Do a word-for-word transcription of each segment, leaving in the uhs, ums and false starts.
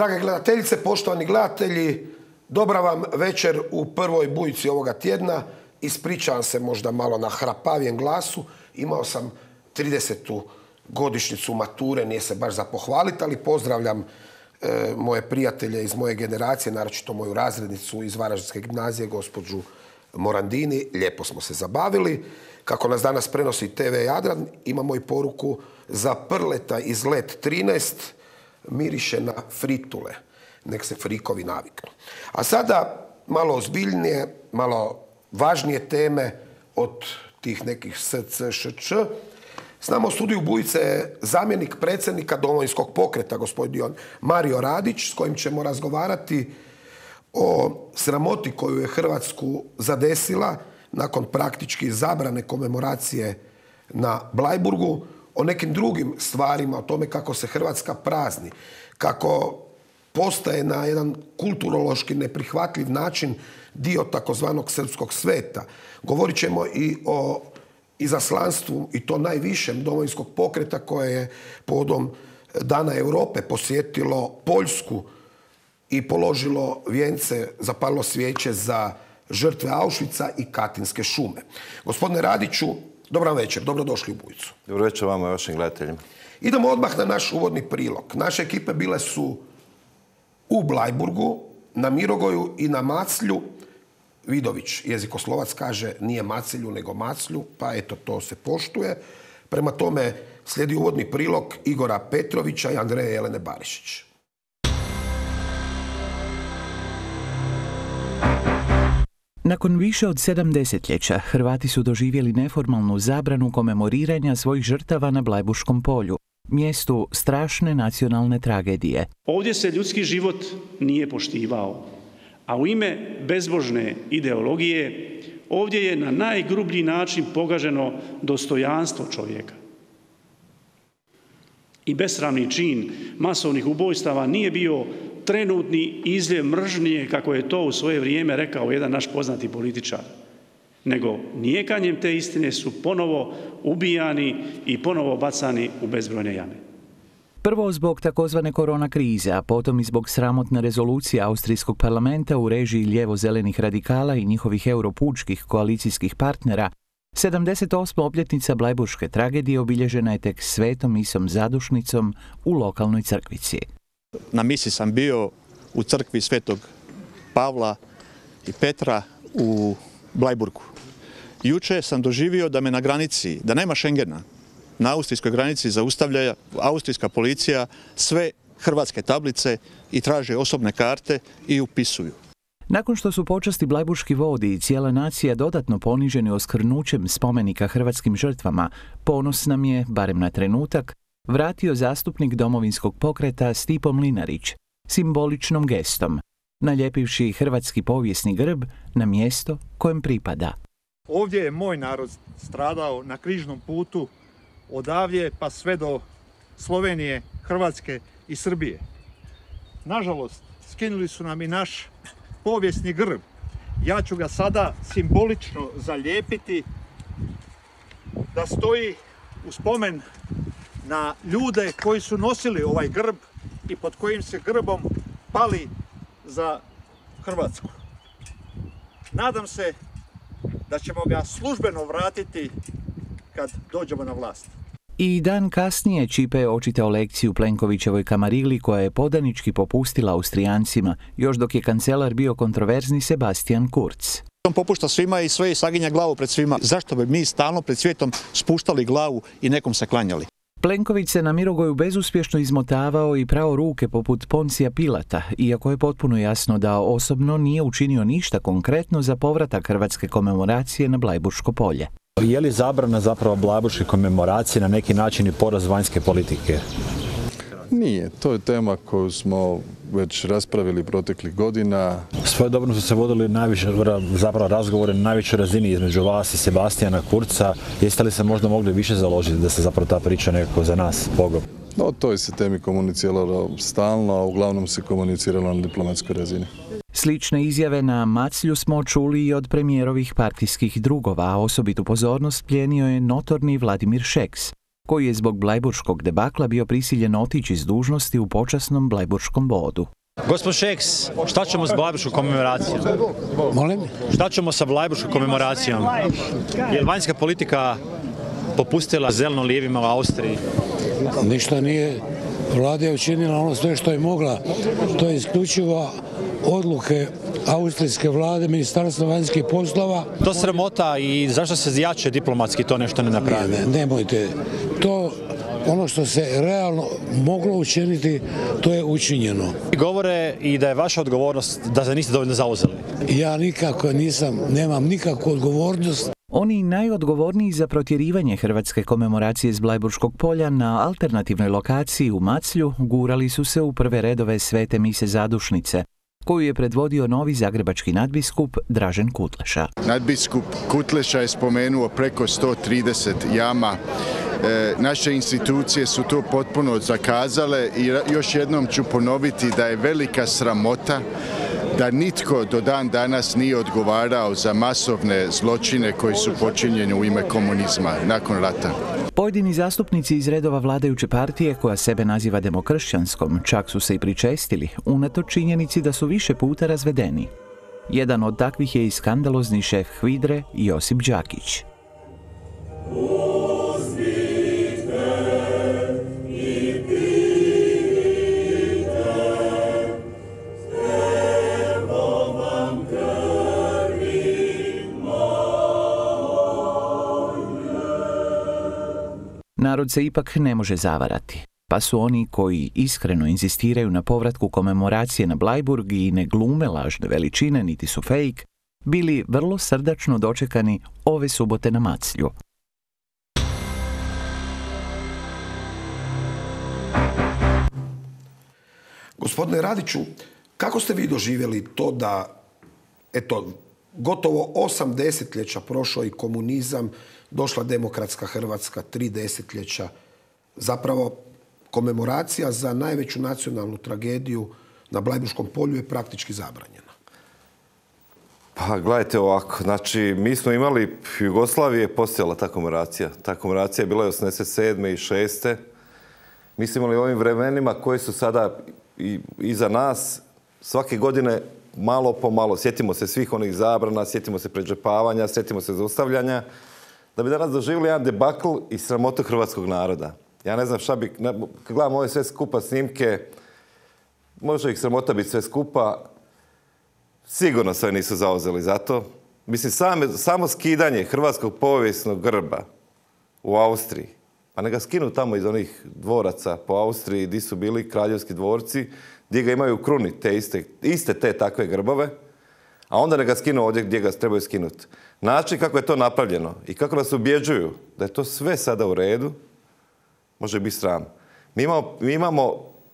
Drage gledateljice, poštovani gledatelji, dobra vam večer u prvoj bujici ovoga tjedna. Ispričavam se možda malo na hrapavijem glasu. Imao sam tridesetu godišnjicu mature, nije se baš za pohvaliti, ali pozdravljam e, moje prijatelje iz moje generacije, naročito moju razrednicu iz Varaždinske gimnazije, gospođu Morandini. Lijepo smo se zabavili. Kako nas danas prenosi te ve Jadran, imamo i poruku za Prleta iz Let trinaest, miriše na fritule. Nek se frikovi naviknu. A sada malo ozbiljnije, malo važnije teme od tih nekih S C Š Č. S nama u studiju Bujice je zamjenik predsjednika Domovinskog pokreta, gospodin Mario Radić, s kojim ćemo razgovarati o sramoti koju je Hrvatsku zadesila nakon praktički zabrane komemoracije na Bleiburgu, o nekim drugim stvarima, o tome kako se Hrvatska prazni, kako postaje na jedan kulturološki neprihvatljiv način dio takozvanog srpskog sveta. Govorit ćemo i o izaslanstvu, i to najvišem Domovinskog pokreta, koje je povodom Dana Europe posjetilo Poljsku i položilo vijence, zapalilo svijeće za žrtve Auschwitza i Katinske šume. Gospodine Radiću, dobar večer, dobrodošli u Bujicu. Dobro večer vama i vašim gledateljima. Idemo odmah na naš uvodni prilog. Naše ekipe bile su u Bleiburgu, na Mirogoju i na Maclju. Vidović, jezikoslovac, kaže nije Maclju nego Maclju, pa eto, to se poštuje. Prema tome slijedi uvodni prilog Igora Petrovića i Andreje Jelene Barišić. Nakon više od sedam desetljeća, Hrvati su doživjeli neformalnu zabranu komemoriranja svojih žrtava na Blajburškom polju, mjestu strašne nacionalne tragedije. Ovdje se ljudski život nije poštivao, a u ime bezbožne ideologije ovdje je na najgrublji način pogaženo dostojanstvo čovjeka. I besramni čin masovnih ubojstava nije bio trenutni izljev mržnje, kako je to u svoje vrijeme rekao jedan naš poznati političar, nego nijekanjem te istine su ponovo ubijani i ponovo bacani u bezbrojne jame. Prvo zbog takozvane korona krize, a potom i zbog sramotne rezolucije Austrijskog parlamenta u režiji lijevo-zelenih radikala i njihovih europučkih koalicijskih partnera, sedamdeset osma obljetnica Blajburške tragedije obilježena je tek svetom misom zadušnicom u lokalnoj crkvici. Na misi sam bio u crkvi Svetog Pavla i Petra u Blajburgu. Juče sam doživio da me na granici, da nema Schengena, na austrijskoj granici zaustavlja austrijska policija sve hrvatske tablice i traže osobne karte i upisuju. Nakon što su počasti blajburški vodi i cijela nacija dodatno poniženi oskvrnućem spomenika hrvatskim žrtvama, ponos nam je, barem na trenutak, vratio zastupnik Domovinskog pokreta Stipo Mlinarić simboličnom gestom, naljepivši hrvatski povijesni grb na mjesto kojem pripada. Ovdje je moj narod stradao na križnom putu odavdje pa sve do Slovenije, Hrvatske i Srbije. Nažalost, skinuli su nam i naš povijesni grb. Ja ću ga sada simbolično zalijepiti da stoji u spomen na ljude koji su nosili ovaj grb i pod kojim se grbom pali za Hrvatsku. Nadam se da ćemo ga službeno vratiti kad dođemo na vlast. I dan kasnije Čipe je očitao lekciju Plenkovićevoj kamarili koja je podanički popustila Austrijancima, još dok je kancelar bio kontroverzni Sebastian Kurz. On popušta svima i sve i saginja glavu pred svima. Zašto bi mi stalno pred svijetom spuštali glavu i nekom se klanjali? Plenković se na Mirogoju bezuspješno izmotavao i prao ruke poput Poncija Pilata, iako je potpuno jasno da osobno nije učinio ništa konkretno za povratak hrvatske komemoracije na Blajburško polje. Je li zabrana zapravo blajburške komemoracije na neki način i poraz vanjske politike? Nije. To je tema koju smo već raspravili proteklih godina. Svojedobno su se vodili najviše, zapravo razgovore na najvišoj razini između vas i Sebastijana Kurza. Jeste li se možda mogli više založiti da se zapravo ta priča nekako za nas pogobi? No, o toj se temi komuniciralo stalno, a uglavnom se komuniciralo na diplomatskoj razini. Slične izjave na Maclju smo čuli i od premijerovih partijskih drugova, a osobitu pozornost plijenio je notorni Vladimir Šeks, koji je zbog blajburškog debakla bio prisiljen otići iz dužnosti u počasnom blajburškom vodu. Gospod Šeks, šta ćemo s blajburškom komemoracijom? Molim? Šta ćemo sa blajburškom komemoracijom? Je li vanjska politika popustila zeleno-lijevima u Austriji? Ništa nije. Vlada je učinila ono sve što je mogla. To je isključivo odluke austrijske vlade, Ministarstva vanjskih poslova. To sramota i zašto se jače diplomatski to nešto ne napravi? Ne, nemojte. To ono što se realno moglo učiniti, to je učinjeno. Govore i da je vaša odgovornost da se niste dovoljno zauzeli. Ja nikako nisam, nemam nikakvu odgovornost. Oni najodgovorniji za protjerivanje hrvatske komemoracije s Blajburškog polja na alternativnoj lokaciji u Maclju gurali su se u prve redove svete mise zadušnice, koju je predvodio novi zagrebački nadbiskup Dražen Kutleša. Nadbiskup Kutleša je spomenuo preko sto trideset jama. E, naše institucije su to potpuno zakazale i još jednom ću ponoviti da je velika sramota da nitko do dan danas nije odgovarao za masovne zločine koji su počinjeni u ime komunizma nakon rata. Pojedini zastupnici iz redova vladajuće partije, koja sebe naziva demokršćanskom, čak su se i pričestili, unatoč činjenici da su više puta razvedeni. Jedan od takvih je i skandalozni šef HVIDRE Josip Đakić. Narod se ipak ne može zavarati, pa su oni koji iskreno inzistiraju na povratku komemoracije na Blajburg i ne glume lažne veličine niti su fejk, bili vrlo srdačno dočekani ove subote na Maclju. Gospodine Radiću, kako ste vi doživjeli to da, eto, gotovo osam desetljeća prošao i komunizam, došla demokratska Hrvatska, tri desetljeća, zapravo komemoracija za najveću nacionalnu tragediju na Blajburškom polju je praktički zabranjena? Pa gledajte ovako, znači mi smo imali u Jugoslaviji je postojala ta komemoracija. Ta komemoracija je bila i osamdeset sedme i šeste. Mi smo imali u ovim vremenima koji su sada i, iza nas svake godine malo po malo. Sjetimo se svih onih zabrana, sjetimo se pređepavanja, sjetimo se zaustavljanja. Da bi danas doživjeli jedan debakl i sramotu hrvatskog naroda. Ja ne znam šta bi, kad gledam ove sve skupa snimke, može ih sramota biti sve skupa, sigurno sve nisu zauzeli za to. Mislim, same, samo skidanje hrvatskog povijesnog grba u Austriji, pa ne ga skinu tamo iz onih dvoraca po Austriji gdje su bili kraljevski dvorci, gdje ga imaju u kruni, te iste, iste te takve grbove, a onda ne ga skinu ovdje gdje ga trebaju skinuti. Način kako je to napravljeno i kako nas ubjeđuju da je to sve sada u redu, može biti sram. Mi imamo, mi imamo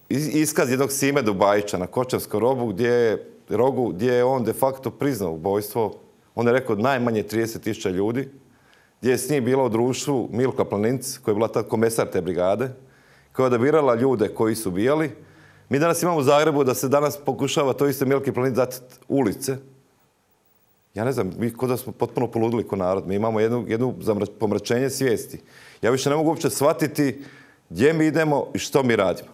iskaz jednog Sime Dubajića na Kočevskom rogu gdje je, rogu gdje je on de facto priznao ubojstvo. On je rekao najmanje trideset tisuća ljudi, gdje je s njim bila u društvu Milka Planinc, koja je bila tad komesar te brigade, koja je odabirala ljude koji su ubijali. Mi danas imamo u Zagrebu da se danas pokušava to isto Milki Planinc dati ulice. Ja ne znam, mi kod da smo potpuno poludili ko narod. Mi imamo jednu, jednu pomračenje svijesti. Ja više ne mogu uopće shvatiti gdje mi idemo i što mi radimo.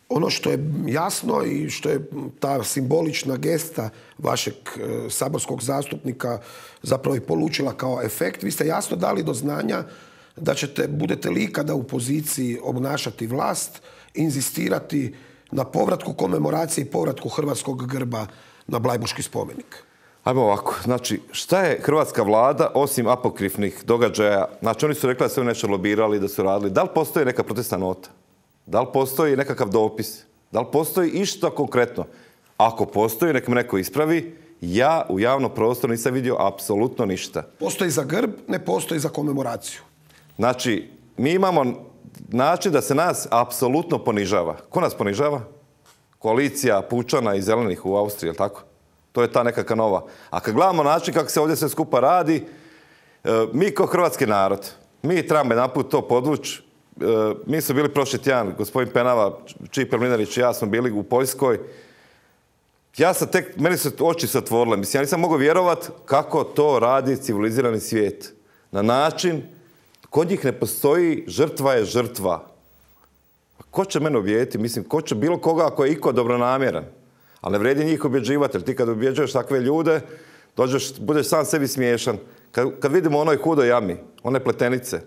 Ono što je jasno i što je ta simbolična gesta vašeg e, saborskog zastupnika zapravo i polučila kao efekt, vi ste jasno dali do znanja da ćete, budete li ikada u poziciji obnašati vlast, inzistirati na povratku komemoracije i povratku hrvatskog grba na Blajburški spomenik. Ajmo ovako, znači, šta je hrvatska vlada osim apokrifnih događaja? Znači, oni su rekli da su nešto lobirali, da su radili. Da li postoji neka protestna nota? Da li postoji nekakav dopis? Da li postoji išta konkretno? Ako postoji, nek me neko ispravi. Ja u javnom prostoru nisam vidio apsolutno ništa. Postoji za grb, ne postoji za komemoraciju. Znači, mi imamo način da se nas apsolutno ponižava. Ko nas ponižava? Koalicija Pučana i Zelenih u Austriji, je li tako? To je ta nekakva nova. A kad gledamo način kako se ovdje sve skupa radi, mi kao hrvatski narod, mi trebamo jedan put to podvući. Mi smo bili prošli tjedan, gospodin Penava, Čiper Mlinarić i ja smo bili u Poljskoj. Ja sam tek, meni su oči se otvorile. Mislim, ja nisam mogao vjerovati kako to radi civilizirani svijet. Na način Kod njih ne postoji žrtva je žrtva. Ko će mene objediti? Mislim, ko će bilo koga ako je iko dobronamjeran? Ali ne vredi njih objeđivati, jer ti kad objeđuješ takve ljude, dođeš, budeš sam sebi smiješan. Kad, kad vidimo onoj hudoj jami, one pletenice,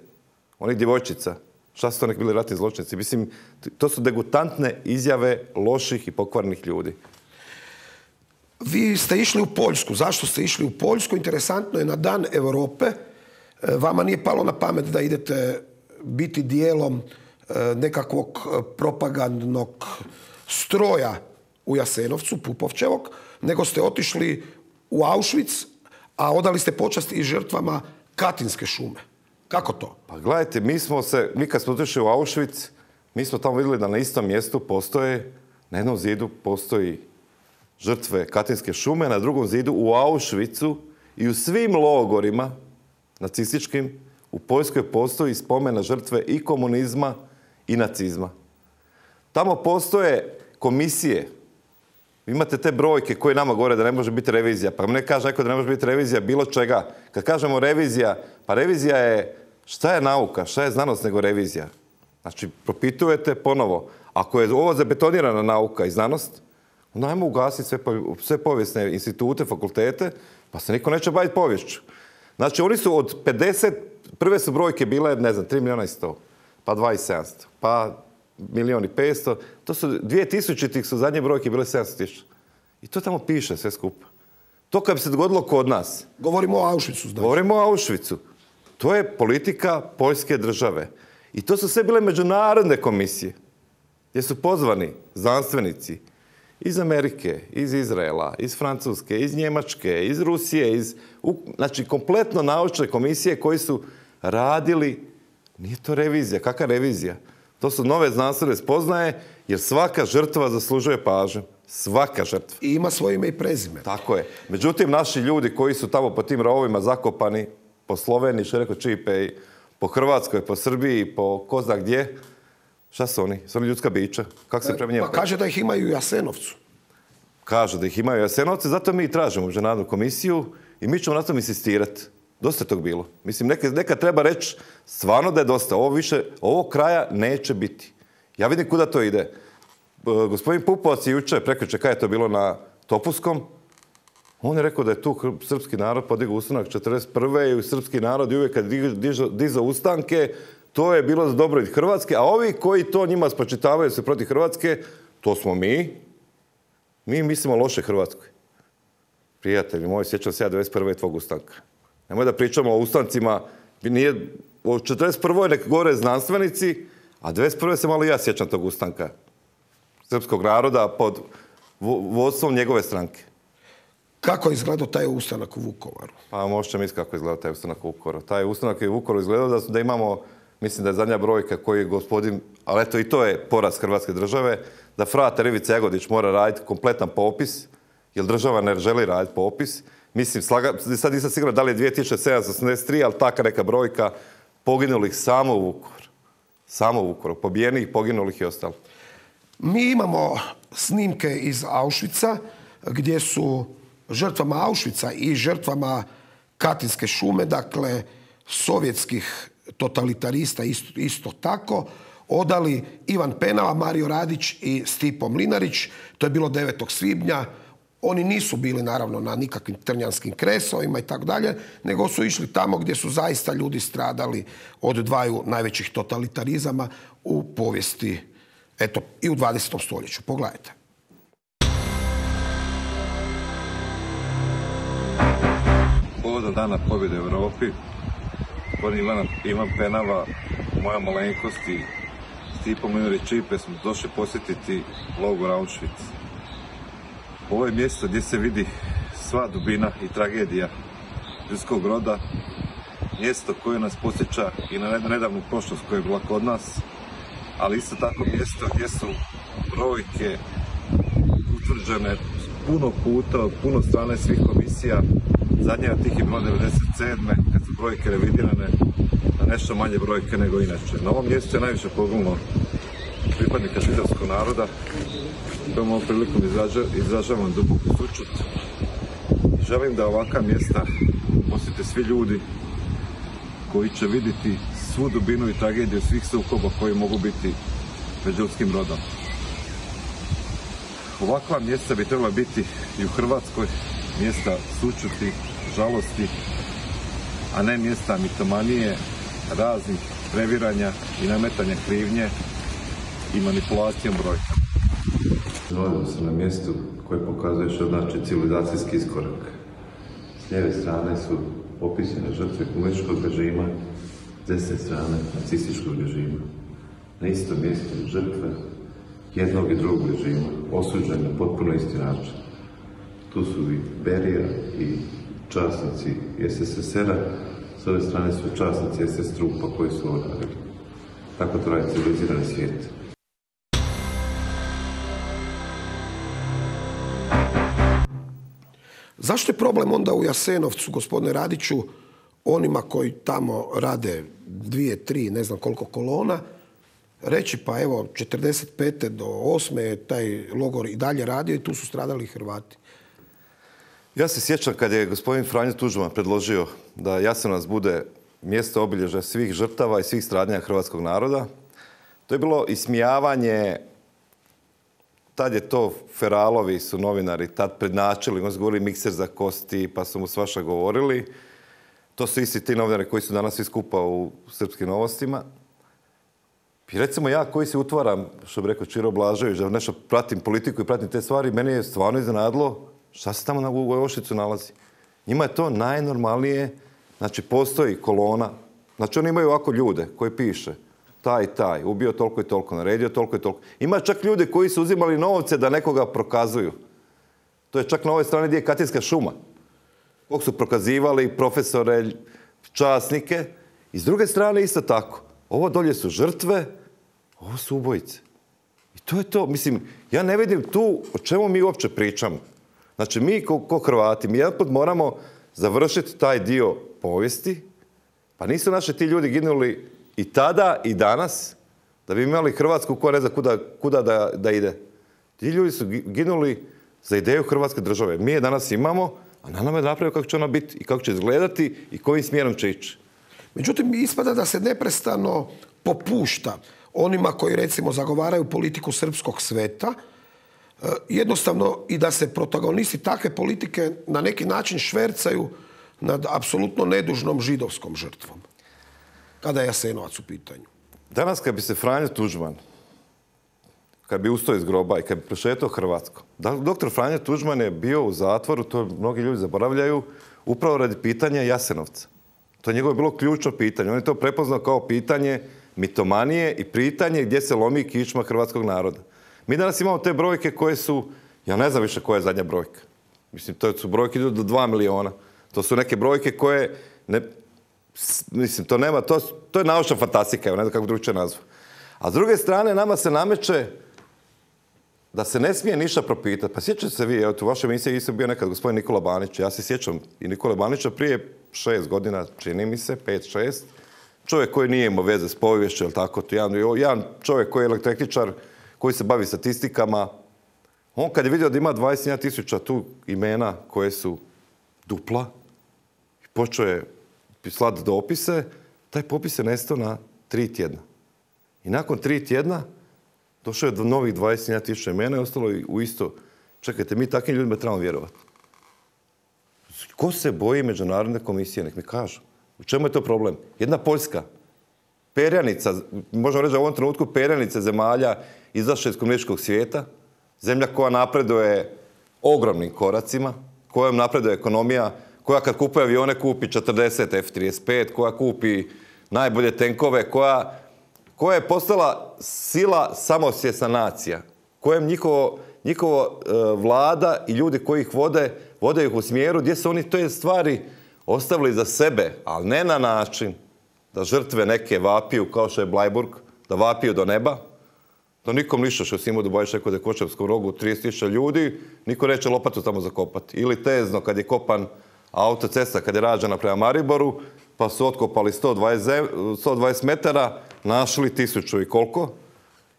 onih djevojčica, šta su to nek bili ratni zločinci? Mislim, to su degutantne izjave loših i pokvarnih ljudi. Vi ste išli u Poljsku. Zašto ste išli u Poljsku? Interesantno je, na Dan Europe vama nije palo na pamet da idete biti dijelom nekakvog propagandnog stroja u Jasenovcu, Pupovčevog, nego ste otišli u Auschwitz, a odali ste počast i žrtvama Katinske šume. Kako to? Pa gledajte, mi smo se, mi kad smo otišli u Auschwitz, mi smo tamo vidjeli da na istom mjestu postoje, na jednom zidu postoji žrtve Katinske šume, na drugom zidu u Auschwitzu i u svim logorima nacističkim u Poljskoj postoji spomen na žrtve i komunizma i nacizma. Tamo postoje komisije. Imate te brojke koje nama govore da ne može biti revizija. Pa ne kaže neko da ne može biti revizija bilo čega. Kad kažemo revizija, pa revizija je šta je nauka, šta je znanost nego revizija. Znači, propitujete ponovo. Ako je ovo zabetonirana nauka i znanost, onda ajmo ugasiti sve, sve povijesne institute, fakultete, pa se niko neće baviti poviješću. Znači, oni su od pedeset, prve su brojke bile, ne znam, tri milijuna i sto, pa dva i sedamsto, pa milijon i petsto. To su dvije tisućitih su zadnje brojke bile sedamsto tisuća. I to tamo piše sve skupa. To kad bi se dogodilo kod nas. Govorimo o Auschwitzu, znači. Govorimo o Auschwitzu. To je politika Poljske države. I to su sve bile međunarodne komisije, gdje su pozvani znanstvenici iz Amerike, iz Izraela, iz Francuske, iz Njemačke, iz Rusije, iz, znači kompletno naučne komisije koji su radili, nije to revizija, kakva revizija? To su nove znanstvene spoznaje, jer svaka žrtva zaslužuje pažnju. Svaka žrtva. I ima svoje ime i prezime. Tako je. Međutim, naši ljudi koji su tamo po tim rovovima zakopani, po Sloveniji, Šereko Čipe, po Hrvatskoj, po Srbiji, po ko zna gdje, šta su oni? Su oni ljudska bića? Kako se prema njima? Pa kaže da ih imaju u Jasenovcu. Kaže da ih imaju u Jasenovcu, zato mi tražimo međunarodnu komisiju i mi ćemo na tom insistirati. Dosta je tog bilo. Mislim, neka, neka treba reći stvarno da je dosta. Ovo više, ovo kraja neće biti. Ja vidim kuda to ide. Gospodin Pupovac je jučer, prekjuče, kada je to bilo na Topuskom, on je rekao da je tu srpski narod podigao ustanak četrdeset prve i srpski narod i uvijek kad dizao ustanke, to je bilo za dobrobit Hrvatske, a ovi koji to njima spočitavaju se protiv Hrvatske, to smo mi. Mi mislimo loše Hrvatskoj. Prijatelji moji, sjećam se ja devedeset prve tvog ustanka. Nemoj da pričamo o ustancima, nije, o četrdeset prvoj nek govore znanstvenici, a devedeset prve se malo ja sjećam tog ustanka srpskog naroda pod vodstvom njegove stranke. Kako je izgledao taj ustanak u Vukovaru? Pa možete misliti kako je izgledao taj ustanak u Vukovaru. Taj ustanak je u Vukovaru izgledao da, da imamo, mislim da je zadnja brojka koji je gospodin, ali eto i to je poraz Hrvatske države, da frate Rivica Jagodić mora raditi kompletan popis, jer država ne želi raditi popis. Mislim, slaga, sad nisam siguran da li je dvije tisuće sedamsto osamdeset tri, ali taka neka brojka poginulih samo u Vukovaru. Samo u Vukovaru. Pobijenih, poginulih i ostalo. Mi imamo snimke iz Auschwitza gdje su žrtvama Auschwitza i žrtvama Katinske šume, dakle sovjetskih totalitarista isto, isto tako, odali Ivan Penava, Mario Radić i Stipo Mlinarić. To je bilo devetog svibnja. Oni nisu bili naravno na nikakvim trnjanskim kresovima i tako dalje, nego su išli tamo gdje su zaista ljudi stradali od dvaju najvećih totalitarizama u povijesti, eto, i u dvadesetom stoljeću. Pogledajte. Povodom Dana pobjede u Europi, gospodin Ivan, Ivan Penava, moja malenkost i Stipo Mlinarić Čipe smo došli posjetiti logor Auschwitz. Ovo je mjesto gdje se vidi sva dubina i tragedija ljudskog roda, mjesto koje nas podsjeća i na nedavnu prošlost koja je bila kod nas, ali isto tako mjesto gdje su brojke utvrđene puno puta, od puno strane svih komisija. Zadnja od tih je bila devedeset sedme kad su brojke revidirane na nešto manje brojke nego inače. Na ovom mjestu je najviše poginulo pripadnika židovskog naroda, kojom ovom prilikom izražavam duboku sućut. Želim da ovakva mjesta posjete svi ljudi koji će vidjeti svu dubinu i tragediju svih sukoba koji mogu biti pred ljudskim rodom. Ovakva mjesta bi trebala biti i u Hrvatskoj, mjesta sućuti, žalosti, a ne mjesta mitomanije, raznih previranja i nametanja krivnje i manipulacijom brojka. Nalazimo se na mjestu koje pokazuje što znači civilizacijski iskorak. S lijeve strane su opisane žrtve komunističkog režima, s desne strane nacističkog režima. Na istom mjestu žrtve jednog i drugog režima, osuđene na potpuno isti način. Tu su i Berija i časnici S S S R-a, s ove strane su časnici S S trupa koji su ovo radili. Tako to radi civilizirani svijet. Zašto je problem onda u Jasenovcu, gospodine Radiću, onima koji tamo rade dvije, tri, ne znam koliko kolona, reći pa evo, četrdeset pete do osme je taj logor i dalje radio i tu su stradali Hrvati? Ja se sjećam kad je gospodin Franjo Tuđman predložio da Jasenovac bude mjesto obilježja svih žrtava i svih stradanja hrvatskog naroda. To je bilo ismijavanje. Tad je to Feralovi su novinari tad prednačili, oni su govorili mikser za kosti, pa su mu svaša govorili. To su isti ti novinari koji su danas svi skupa u Srpskim novostima. I recimo ja koji se utvaram, što bi rekao Čiro Blažević, da nešto pratim politiku i pratim te stvari, meni je stvarno iznenadilo šta se tamo u Ošicu nalazi. Njima je to najnormalnije, znači postoji kolona, znači oni imaju ovako ljude koji piše taj i taj, ubio toliko i toliko, naredio toliko i toliko. Ima čak ljude koji su uzimali novce da nekoga prokazuju. To je čak na ovoj strani gdje je Katinska šuma. Kog su prokazivali profesore, časnike. I s druge strane isto tako. Ovo dolje su žrtve, ovo su ubojice. I to je to. Mislim, ja ne vidim tu o čemu mi uopće pričamo. Znači, mi ko, ko Hrvati, mi jedan put moramo završiti taj dio povijesti. Pa nisu naši ti ljudi ginuli i tada i danas da bi imali Hrvatsku koja ne zna kuda, kuda da, da ide. Ti ljudi su ginuli za ideju Hrvatske države. Mi je danas imamo, a na nama je napravio kako će ona biti i kako će izgledati i kojim smjerom će ići. Međutim, ispada da se neprestano popušta onima koji recimo zagovaraju politiku srpskog sveta, jednostavno i da se protagonisti takve politike na neki način švercaju nad apsolutno nedužnom židovskom žrtvom. Kada je Jasenovac u pitanju. Danas kad bi se Franjo Tuđman, kad bi ustao iz groba i kad bi prošetao Hrvatskom, doktor Franjo Tuđman je bio u zatvoru, to mnogi ljudi zaboravljaju, upravo radi pitanja Jasenovca. To je njegovo bilo ključno pitanje. On je to prepoznao kao pitanje mitomanije i pitanje gdje se lomi kičma hrvatskog naroda. Mi danas imamo te brojke koje su, ja ne znam više koja je zadnja brojka. Mislim, to su brojke do dva miliona. To su neke brojke koje, ne, mislim, to nema, to, to je naučna fantastika, ne znam kako drugačije nazva. A s druge strane, nama se nameće da se ne smije ništa propitati. Pa sjećate se vi, evo, u vašoj emisiji isto bio nekad gospodin Nikola Banić. Ja se sjećam i Nikola Banića prije šest godina, čini mi se, pet, šest. Čovjek koji nije imao veze s poviješću, jel tako? Jedan, jedan čovjek koji je električar, koji se bavi statistikama. On kad je vidio da ima dvadeset tisuća tu imena koje su dupla, i počeo je slati dopise, taj popis je nestao na tri tjedna. I nakon tri tjedna došao je do novih dvadeset tisuća imena i ostalo u isto. Čekajte, mi takvim ljudima trebamo vjerovati. Ko se boji međunarodne komisije? Nek mi kažu. U čemu je to problem? Jedna Poljska, perjanica, možemo reći da u ovom trenutku perjanica zemalja izašla iz komunističkog svijeta, zemlja koja napreduje ogromnim koracima, kojom napreduje ekonomija, koja kad kupuje avione kupi četrdeset F trideset pet, koja kupi najbolje tenkove, koja, koja je postala sila samosvjesna nacija, kojem njihovo, njihovo uh, vlada i ljudi koji ih vode, vode ih u smjeru gdje su oni te stvari ostavili za sebe, ali ne na način da žrtve neke vapiju, kao što je Blajburg, da vapiju do neba, da nikom ništa što si imao da bojiš neko da je Kočevskom rogu trideset tisuća ljudi, niko neće lopatu tamo zakopati. Ili tezno, kad je kopan autocesta, kad je rađena prema Mariboru, pa su otkopali sto dvadeset metara, našli tisuću i koliko.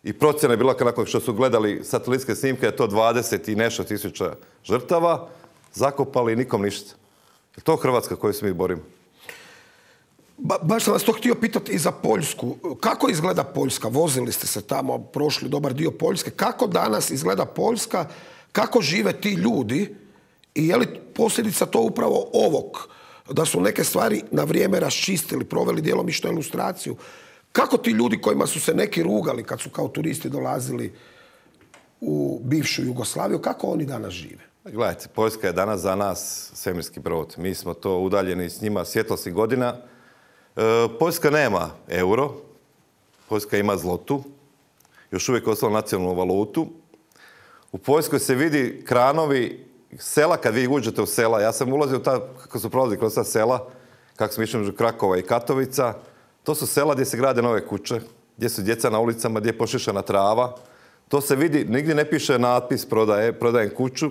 I procjena je bila nakon što su gledali satelitske snimke, je to dvadeset i nešto tisuća žrtava, zakopali i nikom ništa. Je to Hrvatska koju se mi borimo? Ba, baš sam vas to htio pitati i za Poljsku. Kako izgleda Poljska? Vozili ste se tamo, prošli dobar dio Poljske. Kako danas izgleda Poljska? Kako žive ti ljudi? I je li posljedica to upravo ovog? Da su neke stvari na vrijeme raščistili, proveli djelomičnu ilustraciju. Kako ti ljudi kojima su se neki rugali kad su kao turisti dolazili u bivšu Jugoslaviju, kako oni danas žive? Gledajte, Poljska je danas za nas svemirski brod. Mi smo to udaljeni s njima svjetlosnih godina. E, Poljska nema euro, Poljska ima zlotu, još uvijek ostala nacionalnu valutu. U Poljskoj se vidi kranovi sela, kad vi uđete u sela. Ja sam ulazio u ta, kako su prolazili kroz ta sela, kako smo išli među Krakova i Katovica. To su sela gdje se grade nove kuće, gdje su djeca na ulicama, gdje je pošišana trava. To se vidi, nigdje ne piše natpis prodaje, prodajem kuću.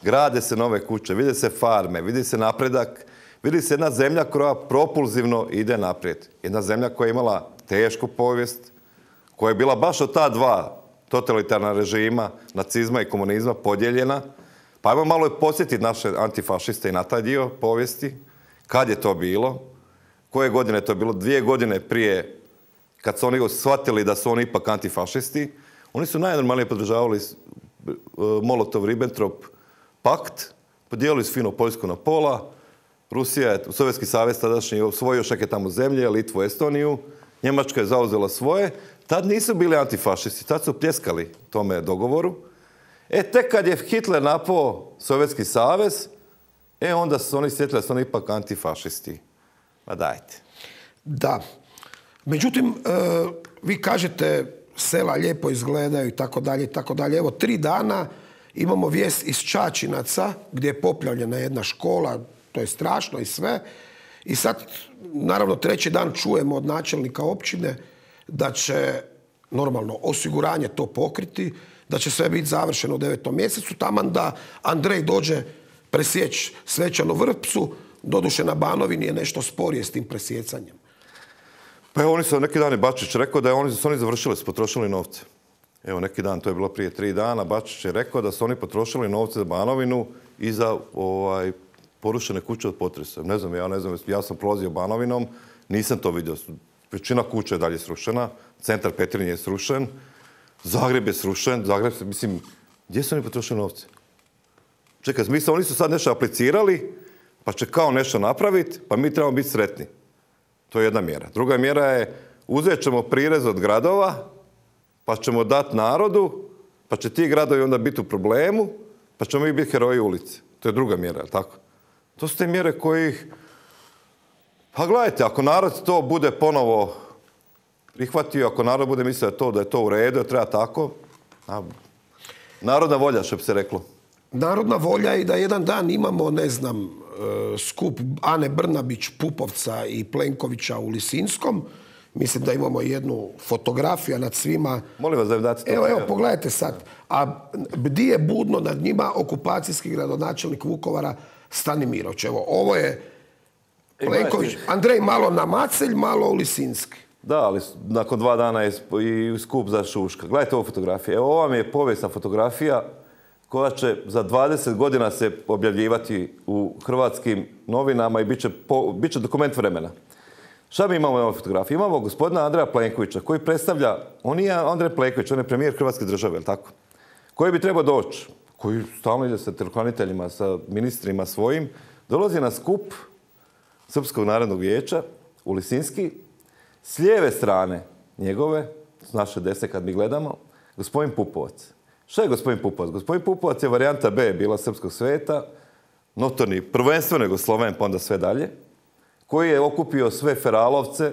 Grade se nove kuće, vide se farme, vidi se napredak, vidi se jedna zemlja koja propulzivno ide naprijed. Jedna zemlja koja je imala tešku povijest, koja je bila baš od ta dva totalitarna režima, nacizma i komunizma podijeljena. Pa ajmo malo posjetiti naše antifašiste i na taj dio povijesti. Kad je to bilo? Koje godine je to bilo? Dvije godine prije, kad su oni shvatili da su oni ipak antifašisti, oni su najnormalnije podržavali Molotov-Ribbentrop pakt, podijelili su fino Poljsku na pola, Rusija je, Sovjetski savez tadašnji, osvojio još neke tamo zemlje, Litvu, Estoniju, Njemačka je zauzela svoje. Tad nisu bili antifašisti, tad su pljeskali tome dogovoru. E, tek kad je Hitler napao Sovjetski savez, e, onda su oni sjetili da su oni ipak antifašisti. Ma dajte. Da. Međutim, e, vi kažete sela lijepo izgledaju i tako dalje i tako dalje. Evo, tri dana imamo vijest iz Čačinaca gdje je poplavljena jedna škola, to je strašno i sve. I sad, naravno, treći dan čujemo od načelnika općine da će normalno osiguranje to pokriti, da će sve biti završeno u devetom mjesecu, taman da Andrej dođe presjeći svečanu vrpcu, doduše na Banovini je nešto sporije s tim presjecanjem. Pa evo, oni su neki dan i Bačić rekao da je oni, su oni završili, su potrošili novce. Evo, neki dan, to je bilo prije tri dana, Bačić je rekao da su oni potrošili novce za Banovinu i za ovaj, porušene kuće od potresa. Ne znam, ja ne znam, ja sam prolazio Banovinom, nisam to vidio. Većina kuća je dalje srušena, centar Petrinje je srušen, Zagreb je srušen, Zagreb, mislim, gdje su oni potrošili novce? Čekaj, mislim, oni su sad nešto aplicirali, pa će kao nešto napraviti, pa mi trebamo biti sretni. To je jedna mjera. Druga mjera je, uzet ćemo prirez od gradova, pa ćemo dati narodu, pa će ti gradovi onda biti u problemu, pa ćemo mi biti heroji ulice. To je druga mjera, je tako? To su te mjere kojih... Pa gledajte, ako narod to bude ponovo prihvatio, ako narod bude mislio to, da je to u redu, da treba tako, a, narodna volja, što bi se reklo. Narodna volja je da jedan dan imamo, ne znam, skup Ane Brnabić, Pupovca i Plenkovića u Lisinskom. Mislim da imamo jednu fotografiju nad svima. Molim vas da im date to. Evo, evo, pogledajte sad. A bdi je budno nad njima okupacijski gradonačelnik Vukovara Stanimirović. Evo, ovo je Plenković. Andrej malo na Macelj, malo u Lisinski. Da, ali nakon dva dana je i skup za Šuška. Gledajte ovu fotografiju. Evo, ova mi je povijesna fotografija koja će za dvadeset godina se objavljivati u hrvatskim novinama i bit će, po, bit će dokument vremena. Šta mi imamo na ovoj fotografiji? Imamo gospodina Andreja Plenkovića koji predstavlja, on nije Andrej Plenković, on je premijer Hrvatske države, je li tako? Koji bi trebao doći, koji stalno ide sa telehraniteljima, sa ministrima svojim, dolazi na skup Srpskog narodnog vijeća u Lisinski, s lijeve strane njegove, s naše desne kad mi gledamo, gospodin Pupovac. Šta je gospodin Pupovac? Gospodin Pupovac je varijanta B bila Srpskog sveta, notorni, prvenstveno Jugosloven, pa onda sve dalje, koji je okupio sve feralovce,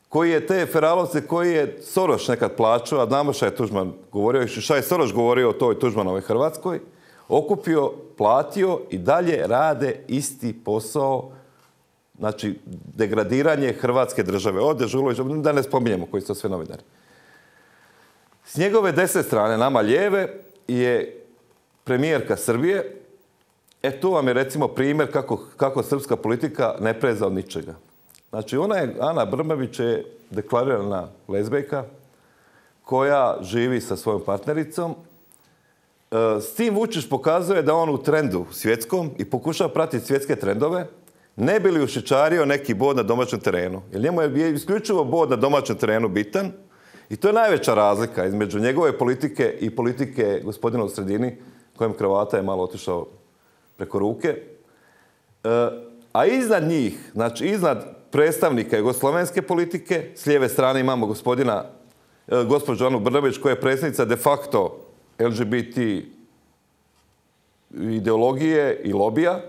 koji je te feralovce koji je Soroš nekad plaćao, a znamo šta je Tuđman govorio, šta je Soroš govorio o toj Tuđmanovoj Hrvatskoj, okupio, platio i dalje rade isti posao, znači degradiranje Hrvatske države. Od Dežulovića, da ne spominjemo koji su to sve novinari. S njegove desne strane, nama lijeve, je premijerka Srbije. E, tu vam je recimo primjer kako, kako srpska politika ne preza od ničega. Znači, ona je, Ana Brnabić je deklarirana lezbejka koja živi sa svojom partnericom. S tim Vučić pokazuje da on u trendu svjetskom i pokušava pratiti svjetske trendove, ne bi li ušičario neki bod na domaćem terenu. Jer njemu je isključivo bod na domaćem terenu bitan i to je najveća razlika između njegove politike i politike gospodina u sredini, kojem kravata je malo otišao preko ruke. E, a iznad njih, znači iznad predstavnika jugoslavenske politike, s lijeve strane imamo gospodina, e, gospođu Anu Brnabić, koja je predsjednica de facto L G B T ideologije i lobija.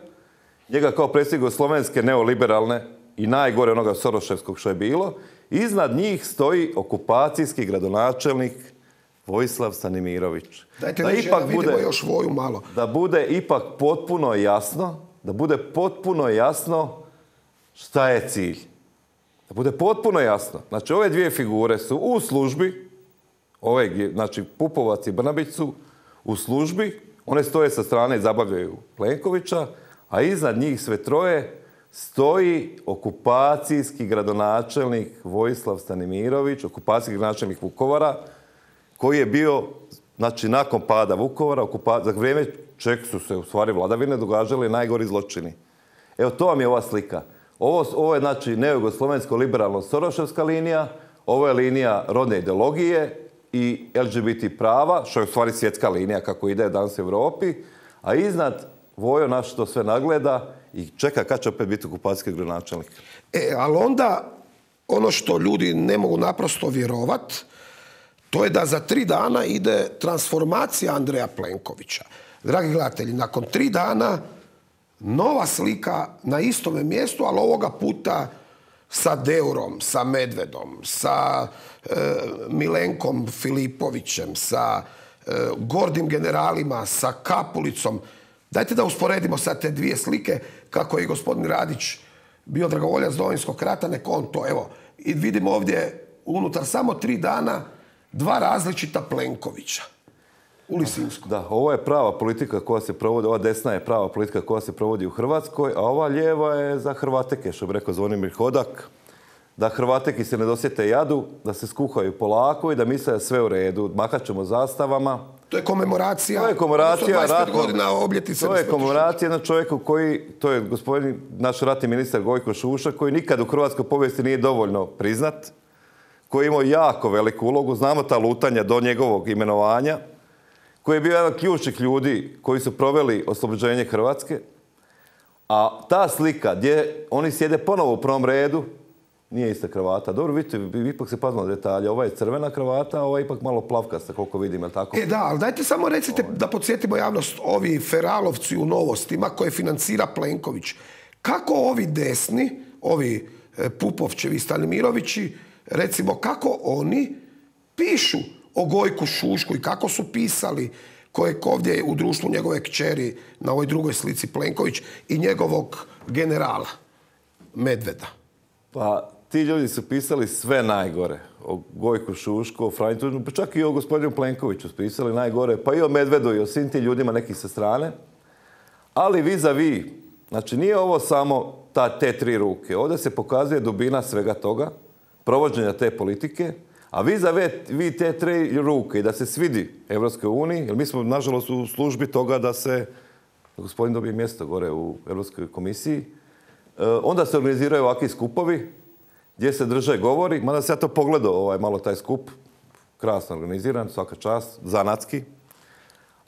Njega kao predsjednik slovenske neoliberalne i najgore onoga soroševskog što je bilo. Iznad njih stoji okupacijski gradonačelnik Vojislav Stanimirović. Dajte da ipak vidimo bude, još Voju malo. Da bude ipak potpuno jasno, da bude potpuno jasno šta je cilj. Da bude potpuno jasno. Znači, ove dvije figure su u službi, ove, znači Pupovac i Brnabić su u službi, one stoje sa strane i zabavljaju Plenkovića, a iznad njih sve troje stoji okupacijski gradonačelnik Vojislav Stanimirović, okupacijski gradonačelnik Vukovara, koji je bio, znači, nakon pada Vukovara, okupa... za vrijeme čeg su se u stvari vladavine događali najgori zločini. Evo, to vam je ova slika. Ovo, ovo je, znači, nejugoslovensko liberalno soroševska linija, ovo je linija rodne ideologije i L G B T prava, što je u stvari svjetska linija kako ide danas u Europi, a iznad Vojo naš to sve nagleda i čeka kad će opet biti okupacijski gradonačelnik. E, ali onda ono što ljudi ne mogu naprosto vjerovat, to je da za tri dana ide transformacija Andreja Plenkovića. Dragi gledatelji, nakon tri dana nova slika na istome mjestu, ali ovoga puta sa Deurom, sa Medvedom, sa e, Milenkom Filipovićem, sa e, gordim generalima, sa Kapulicom. Dajte da usporedimo sad te dvije slike, kako je gospodin Radić bio dragovoljac Domovinskog rata, nek on to, evo, i vidimo ovdje unutar samo tri dana dva različita Plenkovića u Lisinsku. Da, ovo je prava politika koja se provodi, ova desna je prava politika koja se provodi u Hrvatskoj, a ova lijeva je za Hrvateke, što bi rekao Zvonimir Hodak, da Hrvateki se ne dosjete jadu, da se skuhaju polako i da misle da sve u redu. Mahat ćemo zastavama. To je komemoracija. To je komemoracija ratno, godina obljetnice. To je komemoracija jednog čovjeku koji, to je gospodin, naš ratni ministar Gojko Šuša, koji nikad u hrvatskoj povijesti nije dovoljno priznat, koji je imao jako veliku ulogu. Znamo ta lutanja do njegovog imenovanja, koji je bio jedan od ključnih ljudi koji su proveli oslobođenje Hrvatske. A ta slika gdje oni sjede ponovo u prvom redu, nije ista kravata. Dobro, vidite, vi ipak se pazimo na detalje. Ova je crvena kravata, a ova je ipak malo plavkasta, koliko vidim, je li tako? E da, ali dajte samo recite da podsjetimo javnost, ovi feralovci u Novostima koje financira Plenković. Kako ovi desni, ovi Pupovčevi i Stanimirovići, recimo, kako oni pišu o Gojku Šušku i kako su pisali kojeg ovdje u društvu njegove kćeri na ovoj drugoj slici Plenković i njegovog generala Medveda? Pa ti ljudi su pisali sve najgore. O Gojku Šušku, o Franji Tuđmanu, pa čak i o gospodinu Plenkoviću su pisali najgore, pa i o Medvedu i o svim tim ljudima neki sa strane. Ali vis-a-vis, znači nije ovo samo ta, te tri ruke. Ovdje se pokazuje dubina svega toga, provođenja te politike, a vis-a-vis te tri ruke i da se svidi Evropskoj uniji, jer mi smo nažalost u službi toga da se da gospodin dobije mjesto gore u Europskoj komisiji, onda se organiziraju ovakvi skupovi gdje se drže govori. Mada se ja to pogledao, ovaj, malo taj skup, krasno organiziran, svaka čast, zanatski.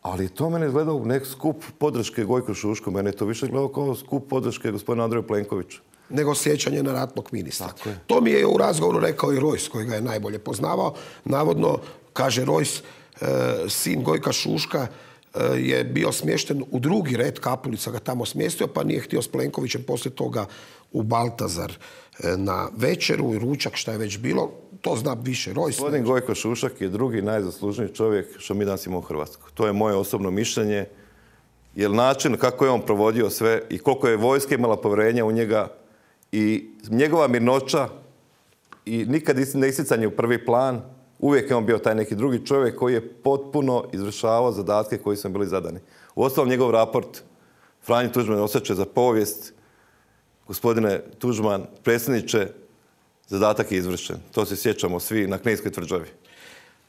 Ali to mene izgledao nek skup podrške Gojku Šušku. Mene je to više gledao kao skup podrške gospodina Andreju Plenkoviću. Nego sjećanje na ratnog ministra. To mi je u razgovoru rekao i Rojs, koji ga je najbolje poznavao. Navodno, kaže Rojs, sin Gojka Šuška je bio smješten u drugi red, Kapulica ga tamo smjestio, pa nije htio s Plenkovićem poslije toga u Baltazar na večeru i ručak, šta je već bilo. To zna više Rojs. Gospodin Gojko Šušak je drugi najzaslužniji čovjek što mi danas imamo u Hrvatskoj. To je moje osobno mišljenje. Jer način kako je on provodio sve i koliko je vojska imala povjerenja u njega i njegova mirnoća i nikad ne isticanje u prvi plan, uvijek je on bio taj neki drugi čovjek koji je potpuno izvršavao zadatke koji su bili zadani. Uostalom njegov raport Franji Tuđman osjećaj za povijest. Gospodine Tuđman, predsjedniče, zadatak je izvršen. To se sjećamo svi na Kninskoj tvrđavi.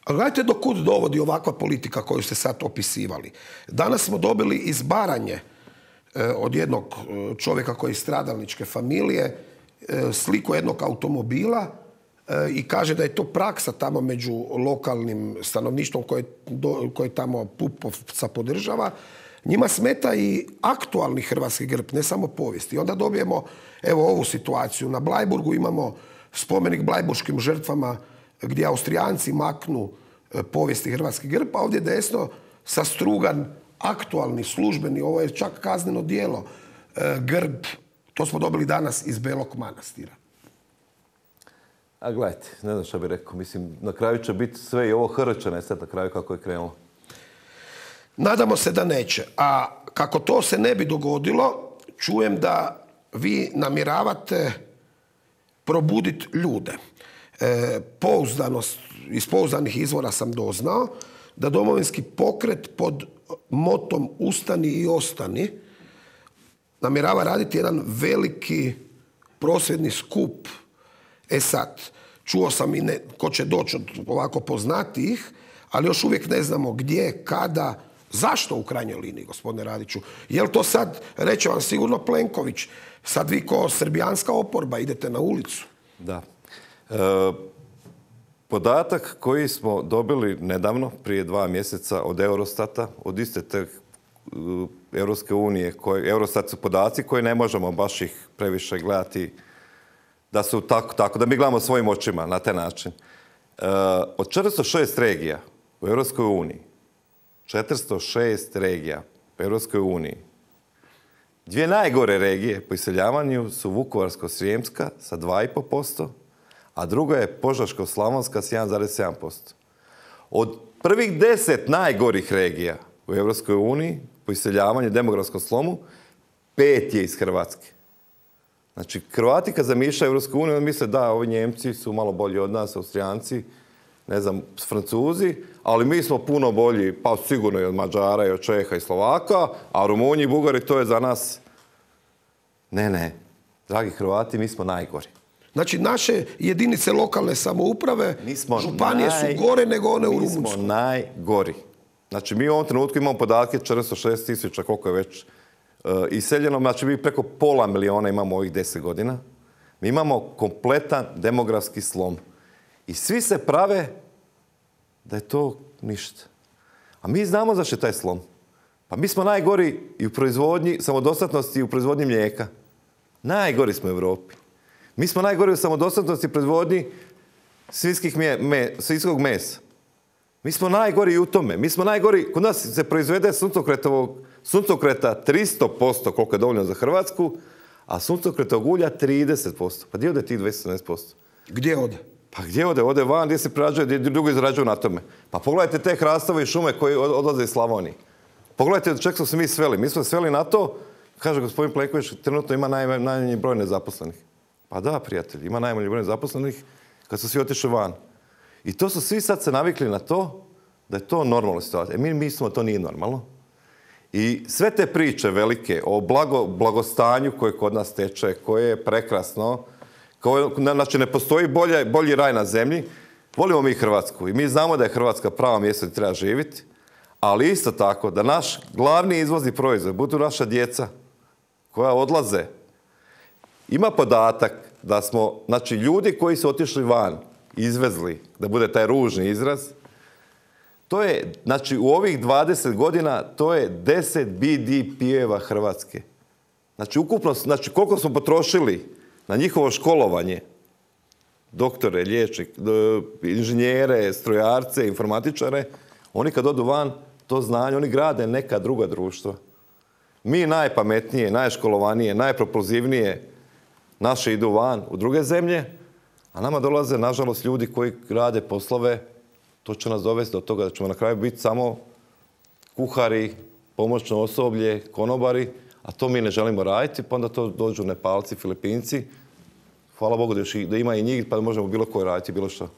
Ali gledajte do kud dovodi ovakva politika koju ste sad opisivali. Danas smo dobili iz Baranje od jednog čovjeka koji je iz stradalničke familije, sliku jednog automobila i kaže da je to praksa tamo među lokalnim stanovništvom koje, koje tamo Pupovca podržava. Njima smeta i aktualni hrvatski grb, ne samo povijesti. I onda dobijemo evo ovu situaciju. Na Bleiburgu imamo spomenik blajburškim žrtvama gdje Austrijanci maknu povijesti hrvatski grb, a ovdje desno sastrugan aktualni, službeni, ovo je čak kazneno djelo, grb, to smo dobili danas iz Belog Manastira. A gledajte, ne znam što bih rekao, mislim, na kraju će biti sve i ovo H R će nestati na kraju kako je krenulo. Nadamo se da neće. A kako to se ne bi dogodilo, čujem da vi namjeravate probuditi ljude. E, pouzdanost, iz pouzdanih izvora sam doznao da Domovinski pokret pod motom Ustani i ostani namjerava raditi jedan veliki prosvjedni skup. E sad, čuo sam i ne, ko će doći od ovako poznatijih, ali još uvijek ne znamo gdje, kada, zašto u krajnjoj liniji, gospodine Radiću. Je li to sad, reće vam sigurno Plenković, sad vi ko srbijanska oporba idete na ulicu? Da. E, podatak koji smo dobili nedavno, prije dva mjeseca od Eurostata, od iste te uh, Europske unije, koje, Eurostat su podaci koje ne možemo baš ih previše gledati da su tako, tako da mi gledamo svojim očima na taj način. E, od četiristo šest regija u Europskoj uniji, četiristo šest regija u Europskoj uniji, dvije najgore regije po iseljavanju su Vukovarsko-srijemska sa dva i pol posto, a druga je Požeško-slavonska s jedan zarez sedam posto. Od prvih deset najgorih regija u Europskoj uniji po iseljavanju, demografskom slomu, pet je iz Hrvatske. Znači, Hrvati kad zamišljaju Europsku uniju, misle da, ovi Njemci su malo bolji od nas, Austrijanci, ne znam, Francuzi, ali mi smo puno bolji, pa sigurno i od Mađara, i od Čeha i Slovaka, a Rumunji i Bugari, to je za nas... Ne, ne. Dragi Hrvati, mi smo najgori. Znači, naše jedinice lokalne samouprave, županije naj... su gore nego one u Rumunjskoj. Mi smo najgori. Znači, mi u ovom trenutku imamo podatke četiristo šest tisuća, koliko je već uh, iseljeno. Znači, mi preko pola miliona imamo ovih deset godina. Mi imamo kompletan demografski slom. I svi se prave da je to ništa. A mi znamo zašto je taj slom. Pa mi smo najgori i u proizvodnji samodostatnosti i u proizvodnji mlijeka. Najgori smo u Europi. Mi smo najgori u samodostatnosti i proizvodnji svinjskih me, me, svinjskog mesa. Mi smo najgori i u tome. Mi smo najgori, kod nas se proizvede suncokretovog, suncokreta tristo posto, koliko je dovoljno za Hrvatsku, a suncokretovog ulja trideset posto. Pa gdje ode tih dvjesto sedamnaest posto? Gdje ode? Pa gdje ode? Ode van, gdje se prerađuje, gdje drugo izrađuju na tome. Pa pogledajte te hrastove i šume koji odlaze iz Slavonije. Pogledajte do čeg smo se mi sveli. Mi smo sveli na to, kaže gospodin Plenković, trenutno ima naj, najmanji broj nezaposlenih. Pa da, prijatelji, ima najmanji broj nezaposlenih kad su svi otišli van. I to su svi sad se navikli na to da je to normalna situacija. E mi mislimo da to nije normalno. I sve te priče velike o blago, blagostanju koje kod nas teče, koje je prekrasno, koje, znači ne postoji bolje, bolji raj na zemlji, volimo mi Hrvatsku i mi znamo da je Hrvatska pravo mjesto gdje treba živjeti, ali isto tako da naš glavni izvozni proizvod budu naša djeca koja odlaze. Ima podatak da smo, znači ljudi koji su otišli van, izvezli, da bude taj ružni izraz, to je, znači u ovih dvadeset godina, to je deset B D P-eva Hrvatske. Znači ukupno, znači koliko smo potrošili na njihovo školovanje, doktore, liječnik, inženjere, strojarce, informatičare, oni kad odu van, to znanje, oni grade neka druga društva. Mi najpametnije, najškolovanije, najpropulzivnije, naše idu van u druge zemlje, a nama dolaze, nažalost, ljudi koji rade poslove, to će nas dovesti do toga da ćemo na kraju biti samo kuhari, pomoćno osoblje, konobari, a to mi ne želimo raditi, pa onda to dođu Nepalci, Filipinci. Hvala Bogu da, još, da ima i njih, pa da možemo bilo koje raditi, bilo što.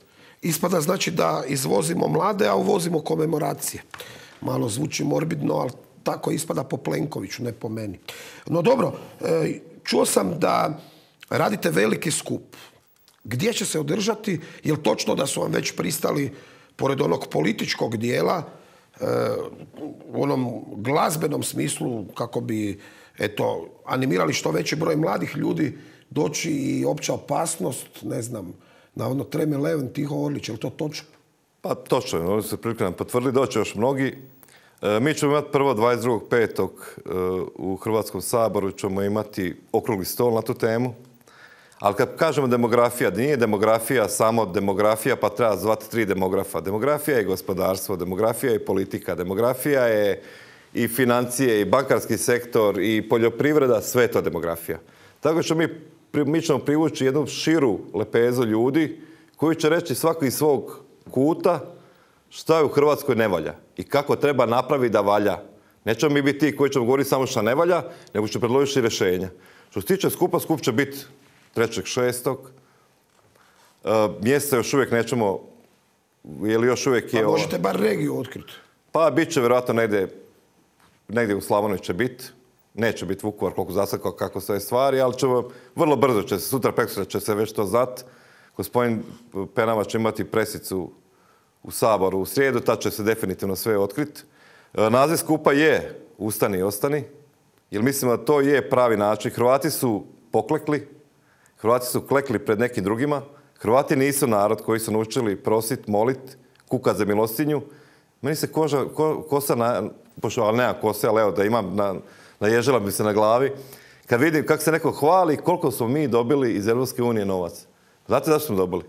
Ispada znači da izvozimo mlade, a uvozimo komemoracije. Malo zvuči morbidno, ali tako ispada po Plenkoviću, ne po meni. No dobro, čuo sam da radite veliki skup. Gdje će se održati? Je li točno da su vam već pristali, pored onog političkog dijela, u onom glazbenom smislu, kako bi eto, animirali što veći broj mladih ljudi doći i opća opasnost, ne znam, na ono Treme Leven, Tiho Orlić, je li to točno? Pa točno je, oni su prilike nam potvrdili, doće još mnogi. E, mi ćemo imati prvo dvadeset drugog petog E, u Hrvatskom saboru ćemo imati okrugli stol na tu temu. Ali kad kažemo demografija, nije demografija samo demografija, pa treba zvati tri demografa. Demografija je gospodarstvo, demografija je politika, demografija je i financije, i bankarski sektor, i poljoprivreda, sve je to demografija. Tako ćemo mi, mi ćemo privući jednu širu lepezu ljudi koji će reći svako iz svog kuta šta je u Hrvatskoj ne valja i kako treba napraviti da valja. Nećemo mi biti ti koji ćemo govoriti samo šta ne valja, nego će predložiti rješenja. Što se tiče skupa, skup će biti trećeg šestog E, mjesto još uvijek nećemo, je li još uvijek je... Pa možete bar regiju otkriti. Pa bit će vjerojatno negdje, negdje u Slavoniji će biti. Neće biti Vukovar koliko zasad kako sve stvari, ali ćemo, vrlo brzo će se, sutra prekosutra će se već to znati. Gospodin Penava će imati presicu u Saboru u srijedu, tad će se definitivno sve otkriti. E, naziv skupa je Ustani i ostani, jer mislimo da to je pravi način. Hrvati su poklekli, Hrvati su klekli pred nekim drugima. Hrvati nisu narod koji su naučili prosit, molit, kukat za milostinju. Meni se koža, ko, kosa, na, pošto, ali nema kose, ali evo da imam, na, naježila bi se na glavi. Kad vidim kako se neko hvali koliko smo mi dobili iz Europske unije novac. Znate zašto smo dobili?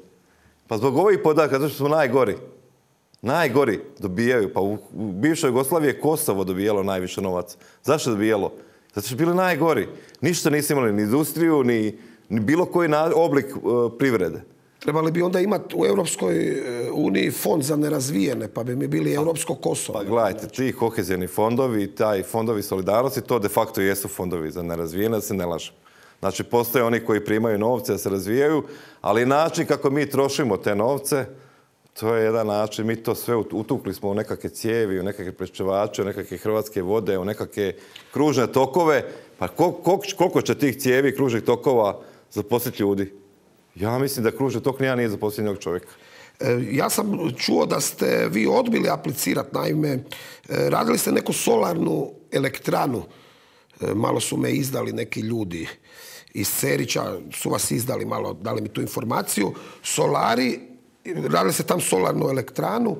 Pa zbog ovih podataka, zato što smo najgori. Najgori dobijaju. Pa u, u bivšoj Jugoslaviji je Kosovo dobijalo najviše novaca. Zašto je dobijalo? Zato što su bili najgori. Ništa nisu imali, ni industriju, ni, ni bilo koji na, oblik uh, privrede. Trebali bi onda imati u Europskoj uniji fond za nerazvijene, pa bi mi bili Europsko Kosovo. Pa gledajte, ti kohezijni fondovi, taj fondovi solidarnosti, to de facto jesu fondovi za nerazvijene, da se ne lažem. Znači, postoje oni koji primaju novce da se razvijaju, ali način kako mi trošimo te novce, to je jedan način, mi to sve utukli smo u nekakve cijevi, u nekakve prečevače, u nekakve hrvatske vode, u nekakve kružne tokove. Pa koliko će tih cijevi i kružnih tokova zaposliti ljudi? Ja mislim da kružni tok nija nije zaposliti jednog čovjeka. Ja sam čuo da ste vi odbili aplicirati, naime, radili ste neku solarnu elektranu. Malo su me izdali neki ljudi iz Cerića, su vas izdali malo, dali mi tu informaciju. Solari, radili ste tam solarnu elektranu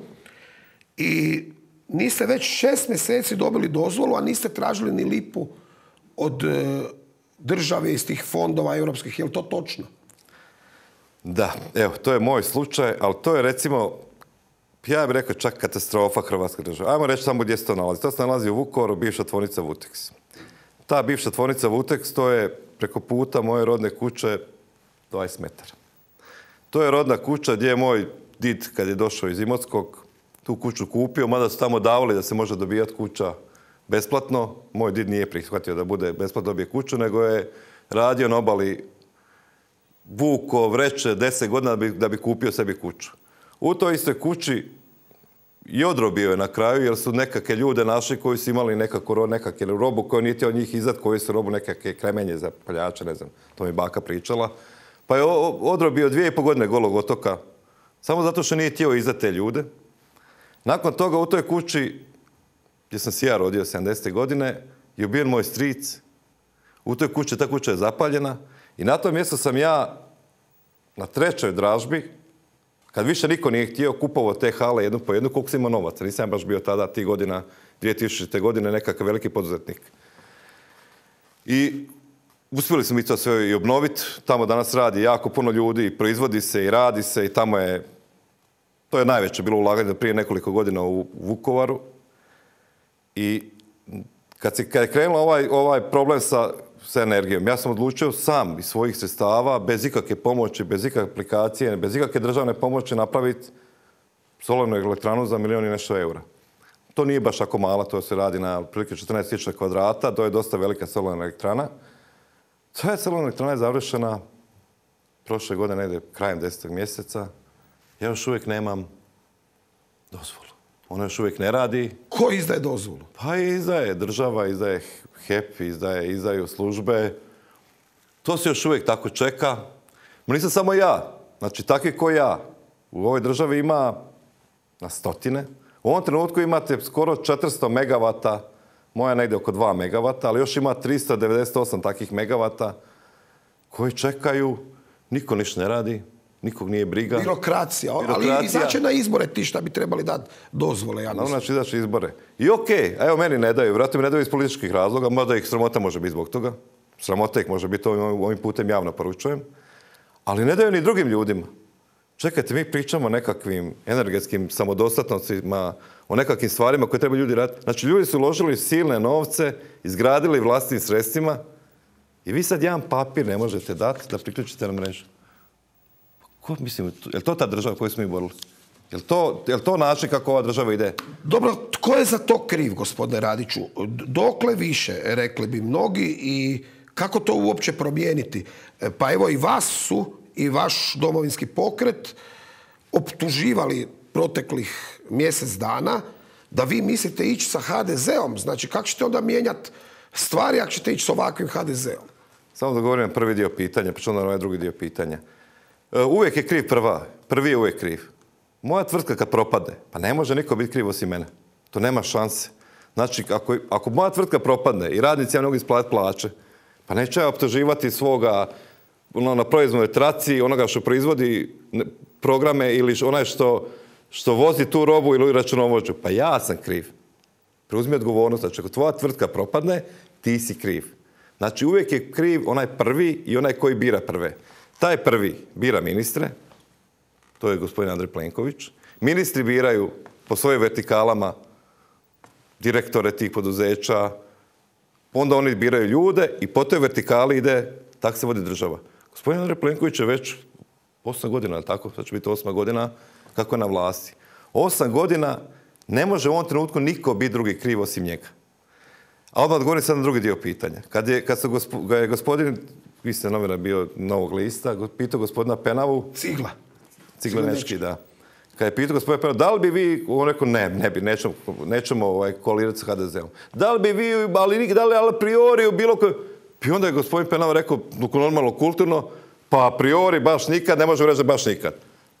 i niste već šest mjeseci dobili dozvolu, a niste tražili ni lipu od države iz tih fondova europskih. Je li to točno? Da, evo, to je moj slučaj, ali to je recimo, ja bih rekao čak katastrofa Hrvatske države. Ajmo reći samo gdje se to nalazi. To se nalazi u Vukovaru, bivša tvornica Vuteks. Ta bivša tvornica Vuteks, to je preko puta moje rodne kuće dvadeset metara. To je rodna kuća gdje je moj did, kad je došao iz Imotskog, tu kuću kupio, mada su tamo davali da se može dobijati kuća besplatno. Moj did nije prihvatio da bude besplatno dobije kuću, nego je radio na obali vuko, vreće, deset godina da bi, da bi kupio sebi kuću. U toj istoj kući i odrobio je na kraju, jer su nekakve ljude našli koji su imali nekakvu nekakve robu koju niti od njih izad, koji su robu nekakve kremenje za paljače, ne znam, to mi baka pričala. Pa je odrobio dvije i po godine Golog otoka, samo zato što nije htio izdati te ljude. Nakon toga u toj kući, gdje sam se ja rodio sedamdesete godine, je ubijen moj stric. U toj kući, ta kuća je zapaljena. I na tom mjestu sam ja na trećoj dražbi, kad više niko nije htio, kupovao te hale jednu po jednu, koliko sam imao novaca. Nisam baš bio tada, tih godina, dvije tisućite. godine, nekakav veliki poduzetnik. I uspjeli smo mi to sve i obnoviti. Tamo danas radi jako puno ljudi, i proizvodi se i radi se i tamo je, to je najveće bilo ulaganje prije nekoliko godina u Vukovaru. I kad, se, kad je krenuo ovaj, ovaj problem sa sa energijom. Ja sam odlučio sam iz svojih sredstava, bez ikakve pomoći, bez ikakve aplikacije, bez ikakve državne pomoći napraviti solarnu elektranu za milijon i nešto eura. To nije baš ako mala, to se radi na otprilike četrnaest tisuća kvadrata, to je dosta velika solarna elektrana. Ta je solarna elektrana je završena prošle godine, negdje krajem desetog mjeseca. Ja još uvijek nemam dozvolu. Ona još uvijek ne radi. Ko izdaje dozvolu? Pa izdaje država, izdaje H E P, izdaje, izdaju službe. To se još uvijek tako čeka. Ma nisam samo ja. Znači, takvi ko ja. U ovoj državi ima na stotine. U ovom trenutku imate skoro četiristo megavata moja negdje oko dva megavata, ali još ima tristo devedeset osam takvih megavata koji čekaju, niko ništa ne radi, nikog nije briga. Birokracija, ali izaće na izbore ti šta bi trebali dati dozvole, ja mislim. Znači, izaći izbore. I okej, evo meni ne daju, vratno mi ne daju iz političkih razloga, možda ih sramota može biti zbog toga. Sramota ih može biti, ovim putem javno poručujem. Ali ne daju ni drugim ljudima. Čekajte, mi pričamo o nekakvim energetskim samodostatnostima, o nekakvim stvarima koje treba ljudi raditi. Znači, ljudi su uložili silne novce, izgradili vlastnim sredstvima i vi sad jedan papir ne možete dati da priključite na mrežu. Ko, mislim, je li to ta država koju smo mi borili? Je li to, je li to način kako ova država ide? Dobro, tko je za to kriv, gospodine Radiću? Dokle više, rekli bi mnogi, i kako to uopće promijeniti? Pa evo i vas su i vaš Domovinski pokret optuživali proteklih mjesec dana da vi mislite ići sa ha de zeom. Znači, kako ćete onda mijenjati stvari ako ćete ići s ovakvim ha de zeom? Samo da govorim prvi dio pitanja, pa ću onda na ovaj drugi dio pitanja. Uvijek je kriv prva. Prvi je uvijek kriv. Moja tvrtka kad propadne, pa ne može niko biti kriv osim mene. To nema šanse. Znači, ako, ako moja tvrtka propadne i radnici ja ne mogu isplatiti plaće, pa neće ja optuživati svoga ono, na proizvodnoj traci, onoga što proizvodi programe ili onaj što, što vozi tu robu ili računovođu. Pa ja sam kriv. Preuzmi odgovornost. Znači, ako tvoja tvrtka propadne, ti si kriv. Znači, uvijek je kriv onaj prvi i onaj koji bira prve. Taj prvi bira ministre, to je gospodin Andrej Plenković. Ministri biraju po svojim vertikalama direktore tih poduzeća, onda oni biraju ljude i po toj vertikali ide, tako se vodi država. Gospodin Andrej Plenković je već osam godina, tako? Sad će biti osma godina kako je na vlasti. Osam godina ne može u ovom trenutku niko biti drugi kriv osim njega. A odmah odgovorim sad na drugi dio pitanja. Kad je, kad gospo, ga je gospodin, vi ste novinar bio Novog lista, pitao gospodina Penavu... Cigla. Ciglenečki, da. Kad je pitao gospodina Penavu, da li bi vi, on rekao, ne, ne bi, nećemo, nećemo ovaj, kolirati sa ha de zeom. Da li bi vi, ali da li a priori bilo koje... I onda je gospodin Penav rekao, normalno, kulturno, pa a priori baš nikad, ne možemo reći da baš nikad.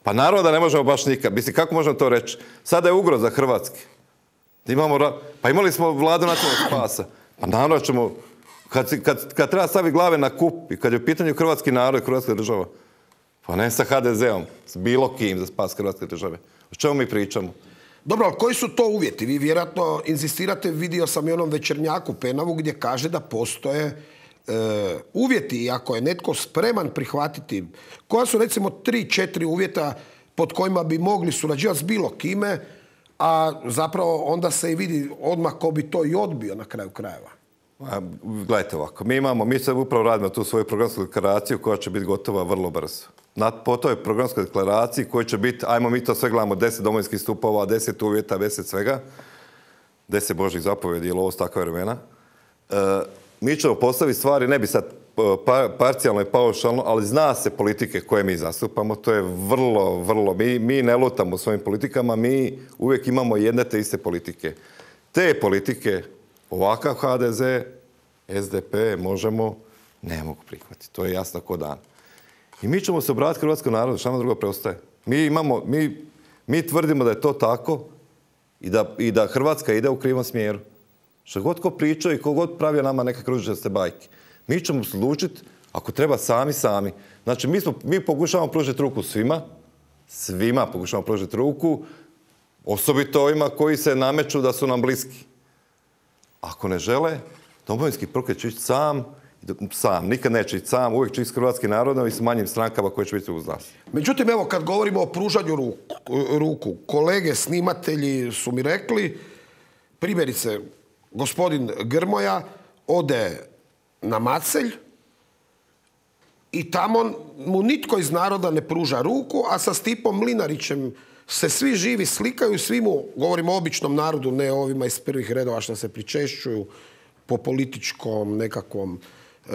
Pa naravno da ne možemo baš nikad. Mislim, kako možemo to reći? Sada je ugroza Hrvatske. Imamo, pa imali smo vladu nacionalnog spasa. Pa naravno ćemo, kad, kad, kad treba staviti glave na kup i kad je u pitanju hrvatski narod i hrvatska država, pa ne sa ha de zeom, s bilo kim za spas hrvatske države. O čemu mi pričamo? Dobro, ali koji su to uvjeti? Vi vjerojatno insistirate, vidio sam i onom Večernjaku Penavu gdje kaže da postoje e, uvjeti i ako je netko spreman prihvatiti, koja su recimo tri, četiri uvjeta pod kojima bi mogli surađivati s bilo kime, a zapravo onda se i vidi odmah ko bi to i odbio na kraju krajeva. A, gledajte ovako, mi imamo, mi sad upravo radimo tu svoju programsku deklaraciju koja će biti gotova vrlo brzo. Na, po toj programskoj deklaraciji koji će biti, ajmo mi to sve gledamo, deset domovinskih stupova, deset uvjeta, deset svega, deset božjih zapovjedi ili ovo s takva vremena. E, mi ćemo postaviti stvari, ne bi sad pa, parcijalno i paušalno, ali zna se politike koje mi zastupamo, to je vrlo, vrlo, mi, mi ne lutamo svojim politikama, mi uvijek imamo jedne te iste politike. Te politike, ovakav ha de ze, es de pe, Možemo, ne mogu prihvatiti, to je jasno ko dan. I mi ćemo se obratiti hrvatskom narodu, šta nam drugo preostaje. Mi, imamo, mi, mi tvrdimo da je to tako i da, i da Hrvatska ide u krivom smjeru. Što god ko pričao i ko god pravio nama neke kružičaste bajke. Mi ćemo se odlučiti, ako treba, sami, sami. Znači, mi, smo, mi pokušavamo pružiti ruku svima, svima pokušavamo pružiti ruku, osobito ovima koji se nameću da su nam bliski. Ako ne žele, Domovinski pokret će ići sam, sam, nikad neće ići sam, uvijek će ići s hrvatskim narodom i s manjim strankama koje će biti uz nas. Međutim, evo, kad govorimo o pružanju ruku, ruku, kolege snimatelji su mi rekli, primjerice, gospodin Grmoja ode na Macelj i tamo mu nitko iz naroda ne pruža ruku, a sa Stipom Mlinarićem se svi živi slikaju, svi mu, govorimo o običnom narodu, ne ovima iz prvih redova što se pričešćuju po političkom nekakvom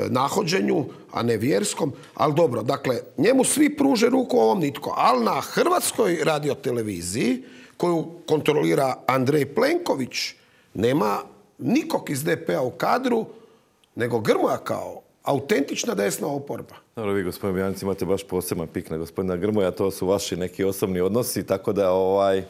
nahođenju, a ne vjerskom, ali dobro, dakle, njemu svi pruže ruku, ovom nitko, ali na Hrvatskoj radioteleviziji, koju kontrolira Andrej Plenković, nema nikog iz de pe-a u kadru, nego Grmoja kao autentična desna oporba. Dobro, vi, gospodin Bjanic, imate baš poseban pik na gospodina Grmoja, to su vaši neki osobni odnosi, tako da ovaj... E,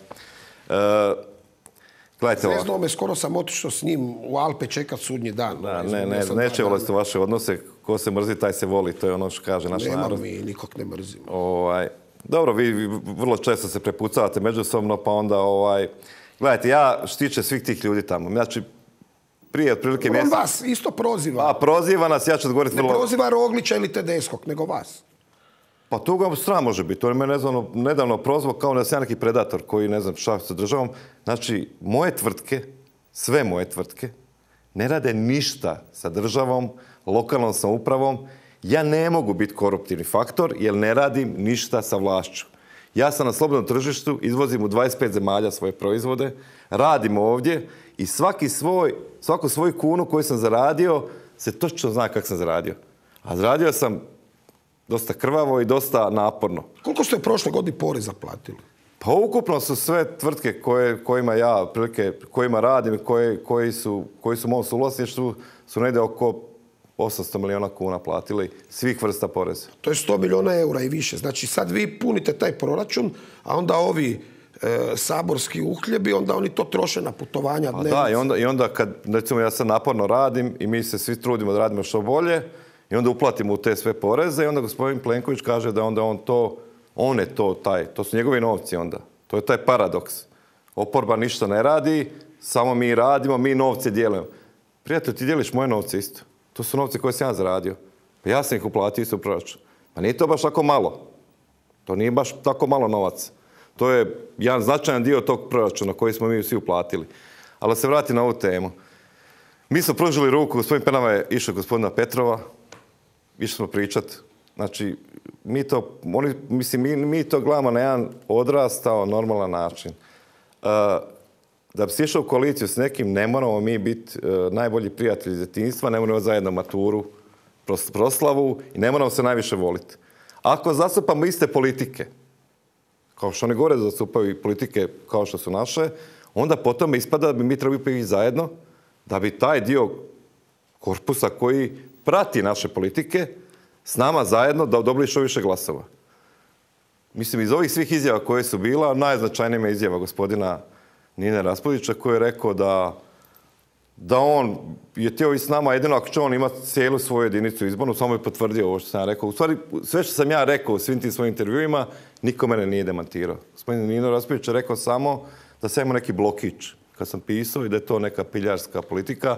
Zvezdao me, skoro sam otišao s njim u Alpe čekat sudnji dan. Da, ne, ne, neće voliti vaše odnose. Ko se mrzi, taj se voli. To je ono što kaže naš narod. Nemam mi, nikog ne mrzim. Ovaj, dobro, vi, vi vrlo često se prepucavate međusobno, pa onda, ovaj, gledajte, ja štiče svih tih ljudi tamo. Znači, prije otprilike mjesec... On vas isto proziva. A, proziva nas, ja ću odgovoriti vrlo... Ne proziva Roglića ili Tedeskog, nego vas. Pa to ga sram može biti. On je me nedavno, nedavno prozvao kao da sam ja neki predator koji ne znam šta sa državom. Znači, moje tvrtke, sve moje tvrtke, ne rade ništa sa državom, lokalnom samoupravom. Ja ne mogu biti koruptivni faktor jer ne radim ništa sa vlašću. Ja sam na slobodnom tržištu, izvozim u dvadeset pet zemalja svoje proizvode, radim ovdje i svaki svoj, svaku svoju kunu koju sam zaradio se točno zna kako sam zaradio. A zaradio sam dosta krvavo i dosta naporno. Koliko ste prošle godine poreza platili? Pa ukupno su sve tvrtke koje, kojima ja prilike, kojima radim i koje, koji, su, koji su u mom suvlasništvu su negdje oko osamsto milijuna kuna platili svih vrsta poreza. To je sto milijuna eura i više. Znači sad vi punite taj proračun, a onda ovi e, saborski uhljebi, onda oni to troše na putovanja. A da, i onda, i onda kad, recimo, ja sad naporno radim i mi se svi trudimo da radimo što bolje, i onda uplatimo u te sve poreze i onda gospodin Plenković kaže da onda on to, on je to taj, to su njegovi novci onda. To je taj paradoks. Oporba ništa ne radi, samo mi radimo, mi novce dijelimo. Prijatelj, ti dijeliš moje novce isto. To su novce koje sam ja zaradio. Pa ja sam ih uplatio isto u proračun. Pa nije to baš tako malo. To nije baš tako malo novaca. To je jedan značajan dio tog proračuna koji smo mi svi uplatili. Ali se vrati na ovu temu. Mi smo pružili ruku, gospodin Penava je išao gospodina Petrova, išli smo pričat. Znači, mi to, oni, mislim, mi, mi to gledamo na jedan odrastao, normalan način. Uh, da bi se išao u koaliciju s nekim, ne moramo mi biti uh, najbolji prijatelji iz djetinjstva, ne moramo zajedno maturu, proslavu i ne moramo se najviše voliti. Ako zastupamo iste politike, kao što oni gore zastupaju i politike kao što su naše, onda potom ispada da bi mi trebali biti zajedno, da bi taj dio korpusa koji prati naše politike s nama zajedno da dobili što više glasova. Mislim, iz ovih svih izjava koje su bila, najznačajnija je izjava gospodina Nine Raspudića koji je rekao da, da on je htio i s nama, jedino ako će on imati cijelu svoju jedinicu izbornu, samo je potvrdio ovo što sam ja rekao. U stvari, sve što sam ja rekao u svim tim svojim intervjuima, niko mene nije demantirao. Gospodin Nino Raspudić je rekao samo da sam imao neki blokić kad sam pisao i da je to neka piljarska politika.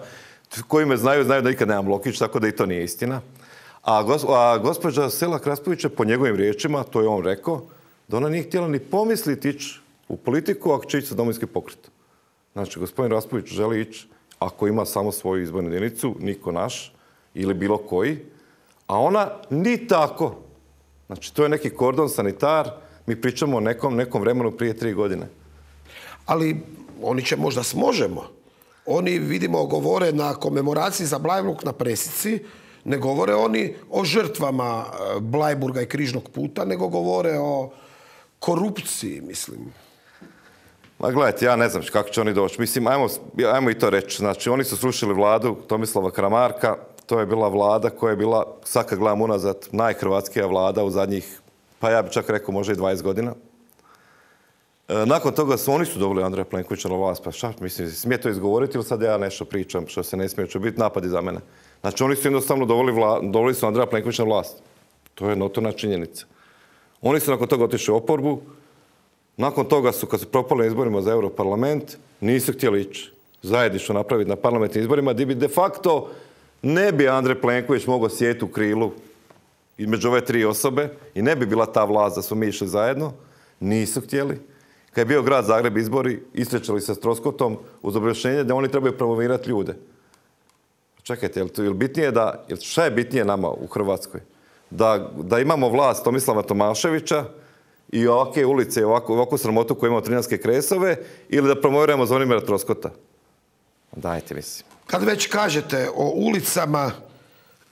Koji me znaju, znaju da nikad nemam blokić, tako da i to nije istina. A, gos, a gospođa Selak Raspudić je po njegovim riječima, to je on rekao, da ona nije htjela ni pomisliti ići u politiku ako će ići sa Domovinski pokret. Znači, gospodin Raspudić želi ići ako ima samo svoju izbornu jedinicu, niko naš ili bilo koji, a ona ni tako. Znači, to je neki kordon sanitar, mi pričamo o nekom, nekom vremenu prije tri godine. Ali oni će možda smožemo. Oni, vidimo, govore na komemoraciji za Bleiburg na presici, ne govore oni o žrtvama Bleiburga i križnog puta, nego govore o korupciji, mislim. Ma gledajte, ja ne znam kako će oni doći. Mislim, ajmo, ajmo i to reći. Znači, oni su srušili vladu Tomislava Karamarka. To je bila vlada koja je bila, sad kad gledam unazad, najhrvatskija vlada u zadnjih, pa ja bih čak rekao, možda i dvadeset godina. E, nakon toga su oni su dobili Andreja Plenkovića na vlast. Pa šta, mislim, smije to izgovoriti ili sad ja nešto pričam što se ne smije, će biti napadi za mene. Znači, oni su jednostavno doveli, vla, doveli su Andreja Plenkovića na vlast. To je notorna činjenica. Oni su nakon toga otišli u oporbu. Nakon toga su, kad su propali izborima za Europarlament, nisu htjeli ići zajedništvo napraviti na parlamentnim izborima, gdje bi de facto ne bi Andrej Plenković mogao sjediti u krilu između ove tri osobe i ne bi bila ta vlast da smo mi išli zajedno. Nisu htjeli. Kad je bio grad Zagreb izbori, isrećali se s Troskotom uz objašnjenje da oni trebaju promovirati ljude. Čekajte, je li bitnije da, šta je bitnije nama u Hrvatskoj? Da, da imamo vlast Tomislava Tomaševića i ovakve ulice i ovakvu, ovakvu sramotu koju imamo Trinjanske kresove ili da promoviramo Zvonimira Troskota? Dajte, mislim. Kad već kažete o ulicama,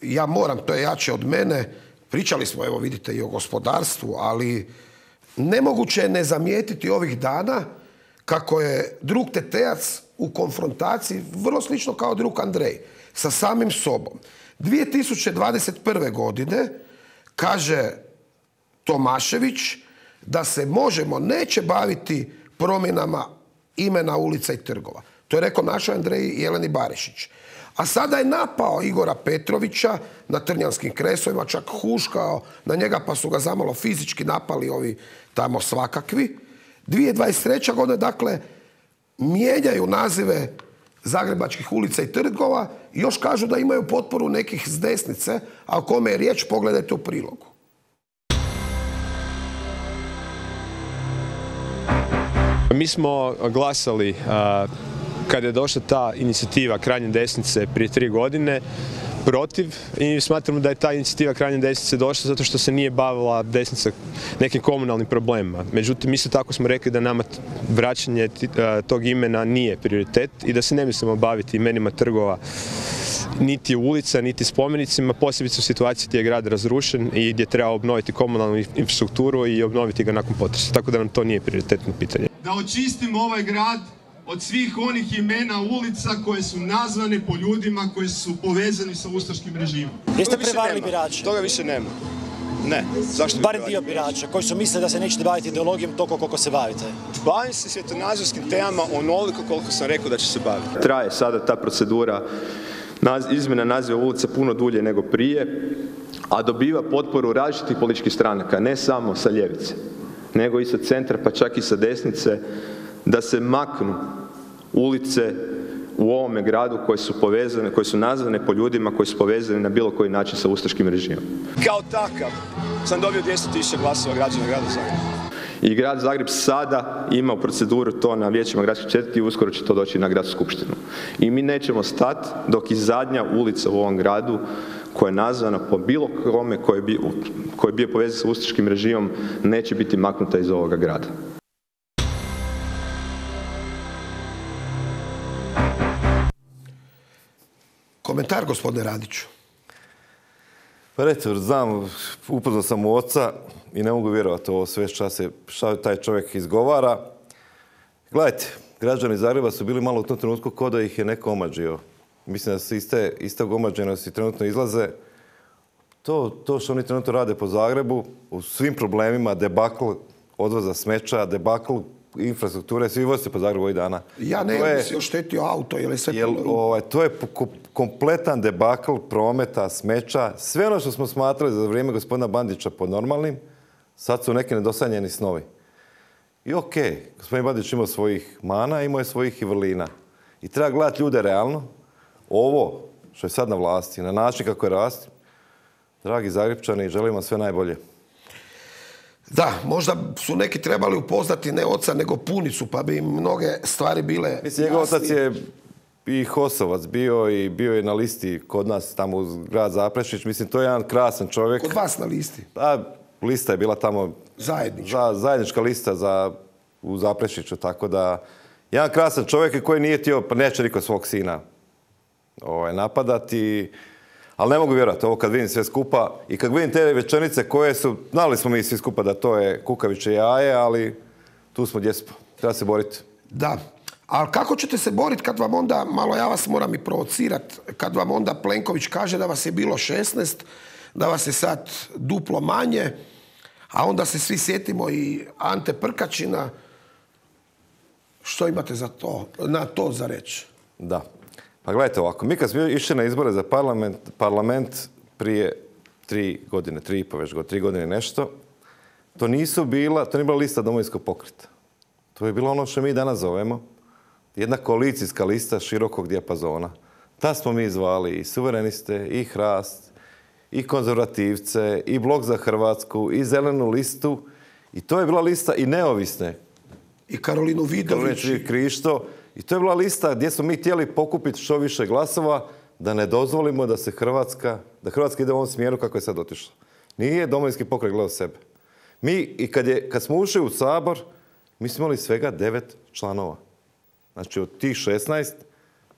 ja moram, to je jače od mene, pričali smo, evo vidite, i o gospodarstvu, ali nemoguće je ne zamijetiti ovih dana kako je drug Tetejac u konfrontaciji, vrlo slično kao drug Andrej, sa samim sobom. dvije tisuće dvadeset prve. godine kaže Tomašević da se Možemo neće baviti promjenama imena ulica i trgova. To je rekao našoj Andreji Jeleni Barišić. A sada je napao Igora Petrovića na Trnjanskim kresovima, čak huškao na njega, pa su ga zamalo fizički napali ovi tamo svakakvi. dvije tisuće dvadeset treća godina, dakle, mijenjaju nazive zagrebačkih ulica i trgova i još kažu da imaju potporu nekih s desnice, a o kome je riječ, pogledajte u prilogu. Mi smo glasali kada je došla ta inicijativa krajnje desnice prije tri godine protiv i smatramo da je ta inicijativa krajnje desnice došla zato što se nije bavila desnica nekim komunalnim problemima. Međutim, isto tako smo rekli da nama vraćanje tog imena nije prioritet i da se ne mislimo baviti imenima trgova niti ulica, niti spomenicima, posebice u situaciji gdje je grad razrušen i gdje treba obnoviti komunalnu infrastrukturu i obnoviti ga nakon potresa. Tako da nam to nije prioritetno pitanje. Da očistimo ovaj grad od svih onih imena ulica koje su nazvane po ljudima koji su povezani sa ustaškim režimom. Jeste prevarili birače? Toga više nema. Ne. Zašto? Barem dio birača koji su mislili da se nećete baviti ideologijom toliko koliko se bavite. Bavim se svjetonazorskim temama onoliko koliko sam rekao da će se baviti. Traje sada ta procedura izmjena naziva ulice puno dulje nego prije, a dobiva potporu različitih političkih stranaka, ne samo sa ljevice, nego i sa centra, pa čak i sa desnice, da se maknu ulice u ovome gradu koje su povezane, koje su nazvane po ljudima koji su povezani na bilo koji način sa ustaškim režimom. Kao takav sam dobio dvjesto tisuća glasova građana grada Zagreba. I grad Zagreb sada ima u proceduru to na vijećima gradskih četvrti i uskoro će to doći na gradsku skupštinu. I mi nećemo stati dok i zadnja ulica u ovom gradu koja je nazvana po bilo kome koji je bio, koji je bio povezan sa ustaškim režimom neće biti maknuta iz ovoga grada. Komentar, gospodine Radiću. Pa recimo, znam, upoznao sam u oca i ne mogu vjerovati ovo sve šta taj čovjek izgovara. Gledajte, građani Zagreba su bili malo u tom trenutku kao da ih je neko omađio. Mislim da se iste, istog omađenosti trenutno izlaze. To, to što oni trenutno rade po Zagrebu, u svim problemima, debakl odvoza smeća, debakl infrastrukture, svi vozite po Zagrebu ovih dana. Ja ne bih si oštetio auto, jer je sve... Jel, ovaj, to je kompletan debakl prometa, smeća, sve ono što smo smatrali za vrijeme gospodina Bandića pod normalnim, sad su neki nedosanjeni snovi. I okej, okay, gospodin Bandić imao svojih mana, imao je svojih i vrlina. I treba gledati ljude realno. Ovo što je sad na vlasti, na način kako je rasti, dragi Zagrepčani, želim vam sve najbolje. Da, možda su neki trebali upoznati ne oca, nego punicu, pa bi im mnoge stvari bile jasnije. Mislim, njegov otac je i Hosovac bio i bio je na listi kod nas tamo uz grad Zaprešić. Mislim, to je jedan krasan čovjek. Kod vas na listi? Pa, lista je bila tamo... Zajednička. Za, zajednička lista za, u Zaprešiću, tako da... Jedan krasan čovjek koji nije htio, pa neće niko svog sina ovaj, napadati. Ali ne mogu vjerovati, ovo kad vidim sve skupa i kad vidim te rečenice koje su, znali smo mi svi skupa da to je kukavičje jaje, ali tu smo gdje smo. Treba se boriti. Da. Ali kako ćete se boriti kad vam onda, malo ja vas moram i provocirati, kad vam onda Plenković kaže da vas je bilo šesnaest, da vas je sad duplo manje, a onda se svi sjetimo i Ante Prkačina. Što imate za to, na to za reći? Da. Pa gledajte ovako, mi kad smo išli na izbore za parlament, parlament prije tri godine, tri i po već godine, tri godine nešto, to nisu bila, to nije bila lista Domovinskog pokreta. To je bilo ono što mi danas zovemo jedna koalicijska lista širokog dijapazona. Ta smo mi zvali i suvereniste, i Hrast, i konzervativce, i Blok za Hrvatsku, i Zelenu listu. I to je bila lista i neovisne. I Karolinu Vidović. I Krišto. I to je bila lista gdje smo mi htjeli pokupiti što više glasova da ne dozvolimo da se Hrvatska, da Hrvatska ide u ovom smjeru kako je sad otišla. Nije Domovinski pokret gledao sebe. Mi, i kad, je, kad smo ušli u Sabor, mi smo imali svega devet članova. Znači od tih šesnaest,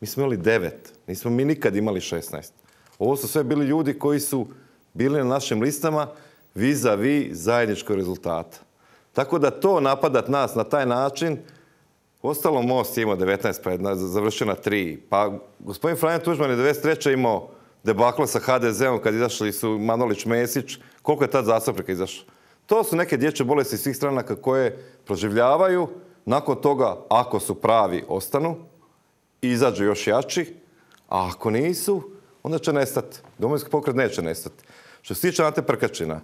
mi smo imali devet. Nismo mi nikad imali šesnaest. Ovo su sve bili ljudi koji su bili na našim listama vis-a-vis zajedničkog rezultata. Tako da to napadat nas na taj način, ostalo Most je imao devetnaest, pa je završio na tri. Pa gospodin Franjo Tuđman je devedeset treće imao debaklo sa ha de zom kad izašli su Manolić, Mesić. Koliko je tad zastupnika izašlo? To su neke dječje bolesti svih stranaka koje proživljavaju Nakon toga, ako su pravi, ostanu, izađu još jači, a ako nisu, onda će nestati. Domovinski pokret neće nestati. Što se tiče Ante Prkačina,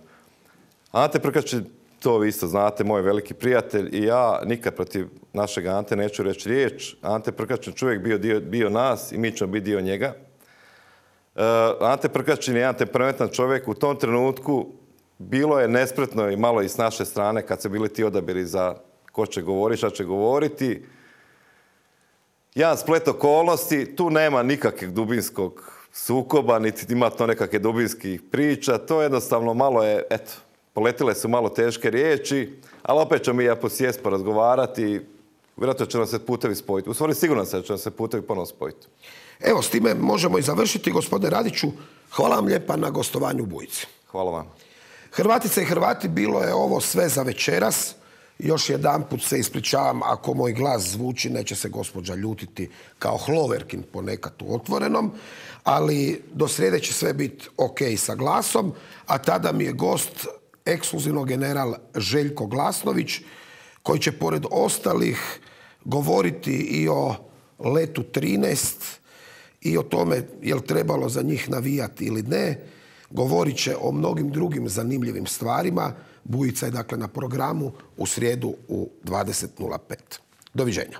Ante Prkačin, to vi isto znate, moj veliki prijatelj i ja nikad protiv našeg Ante neću reći riječ. Ante Prkačin čovjek bio, dio, bio nas i mi ćemo biti dio njega. Uh, Ante Prkačin je jedan temperamentan čovjek. U tom trenutku bilo je nespretno i malo i s naše strane kad su bili ti odabiri za ko će govoriti, šta će govoriti. Jedan splet okolnosti, tu nema nikakvog dubinskog sukoba, niti ima to nekakve dubinskih priča. To jednostavno malo je, eto, poletile su malo teške riječi, ali opet ćemo mi ja posjest porazgovarati. Vjerojatno će nam se putevi spojiti. U stvari sigurno se će nam se putevi ponovno spojiti. Evo, s time možemo i završiti. Gospodine Radiću, hvala vam lijepa na gostovanju u Bujici. Hvala vam. Hrvatice i Hrvati, bilo je ovo sve za večeras. Još jedanput se ispričavam ako moj glas zvuči, neće se gospođa ljutiti kao Hloverkin ponekad u Otvorenom, ali do srijede će sve biti ok sa glasom, a tada mi je gost ekskluzivno general Željko Glasnović, koji će pored ostalih govoriti i o letu trinaest i o tome je li trebalo za njih navijati ili ne. Govorit će o mnogim drugim zanimljivim stvarima. Bujica je dakle na programu u srijedu u dvadeset nula pet. Doviđenja.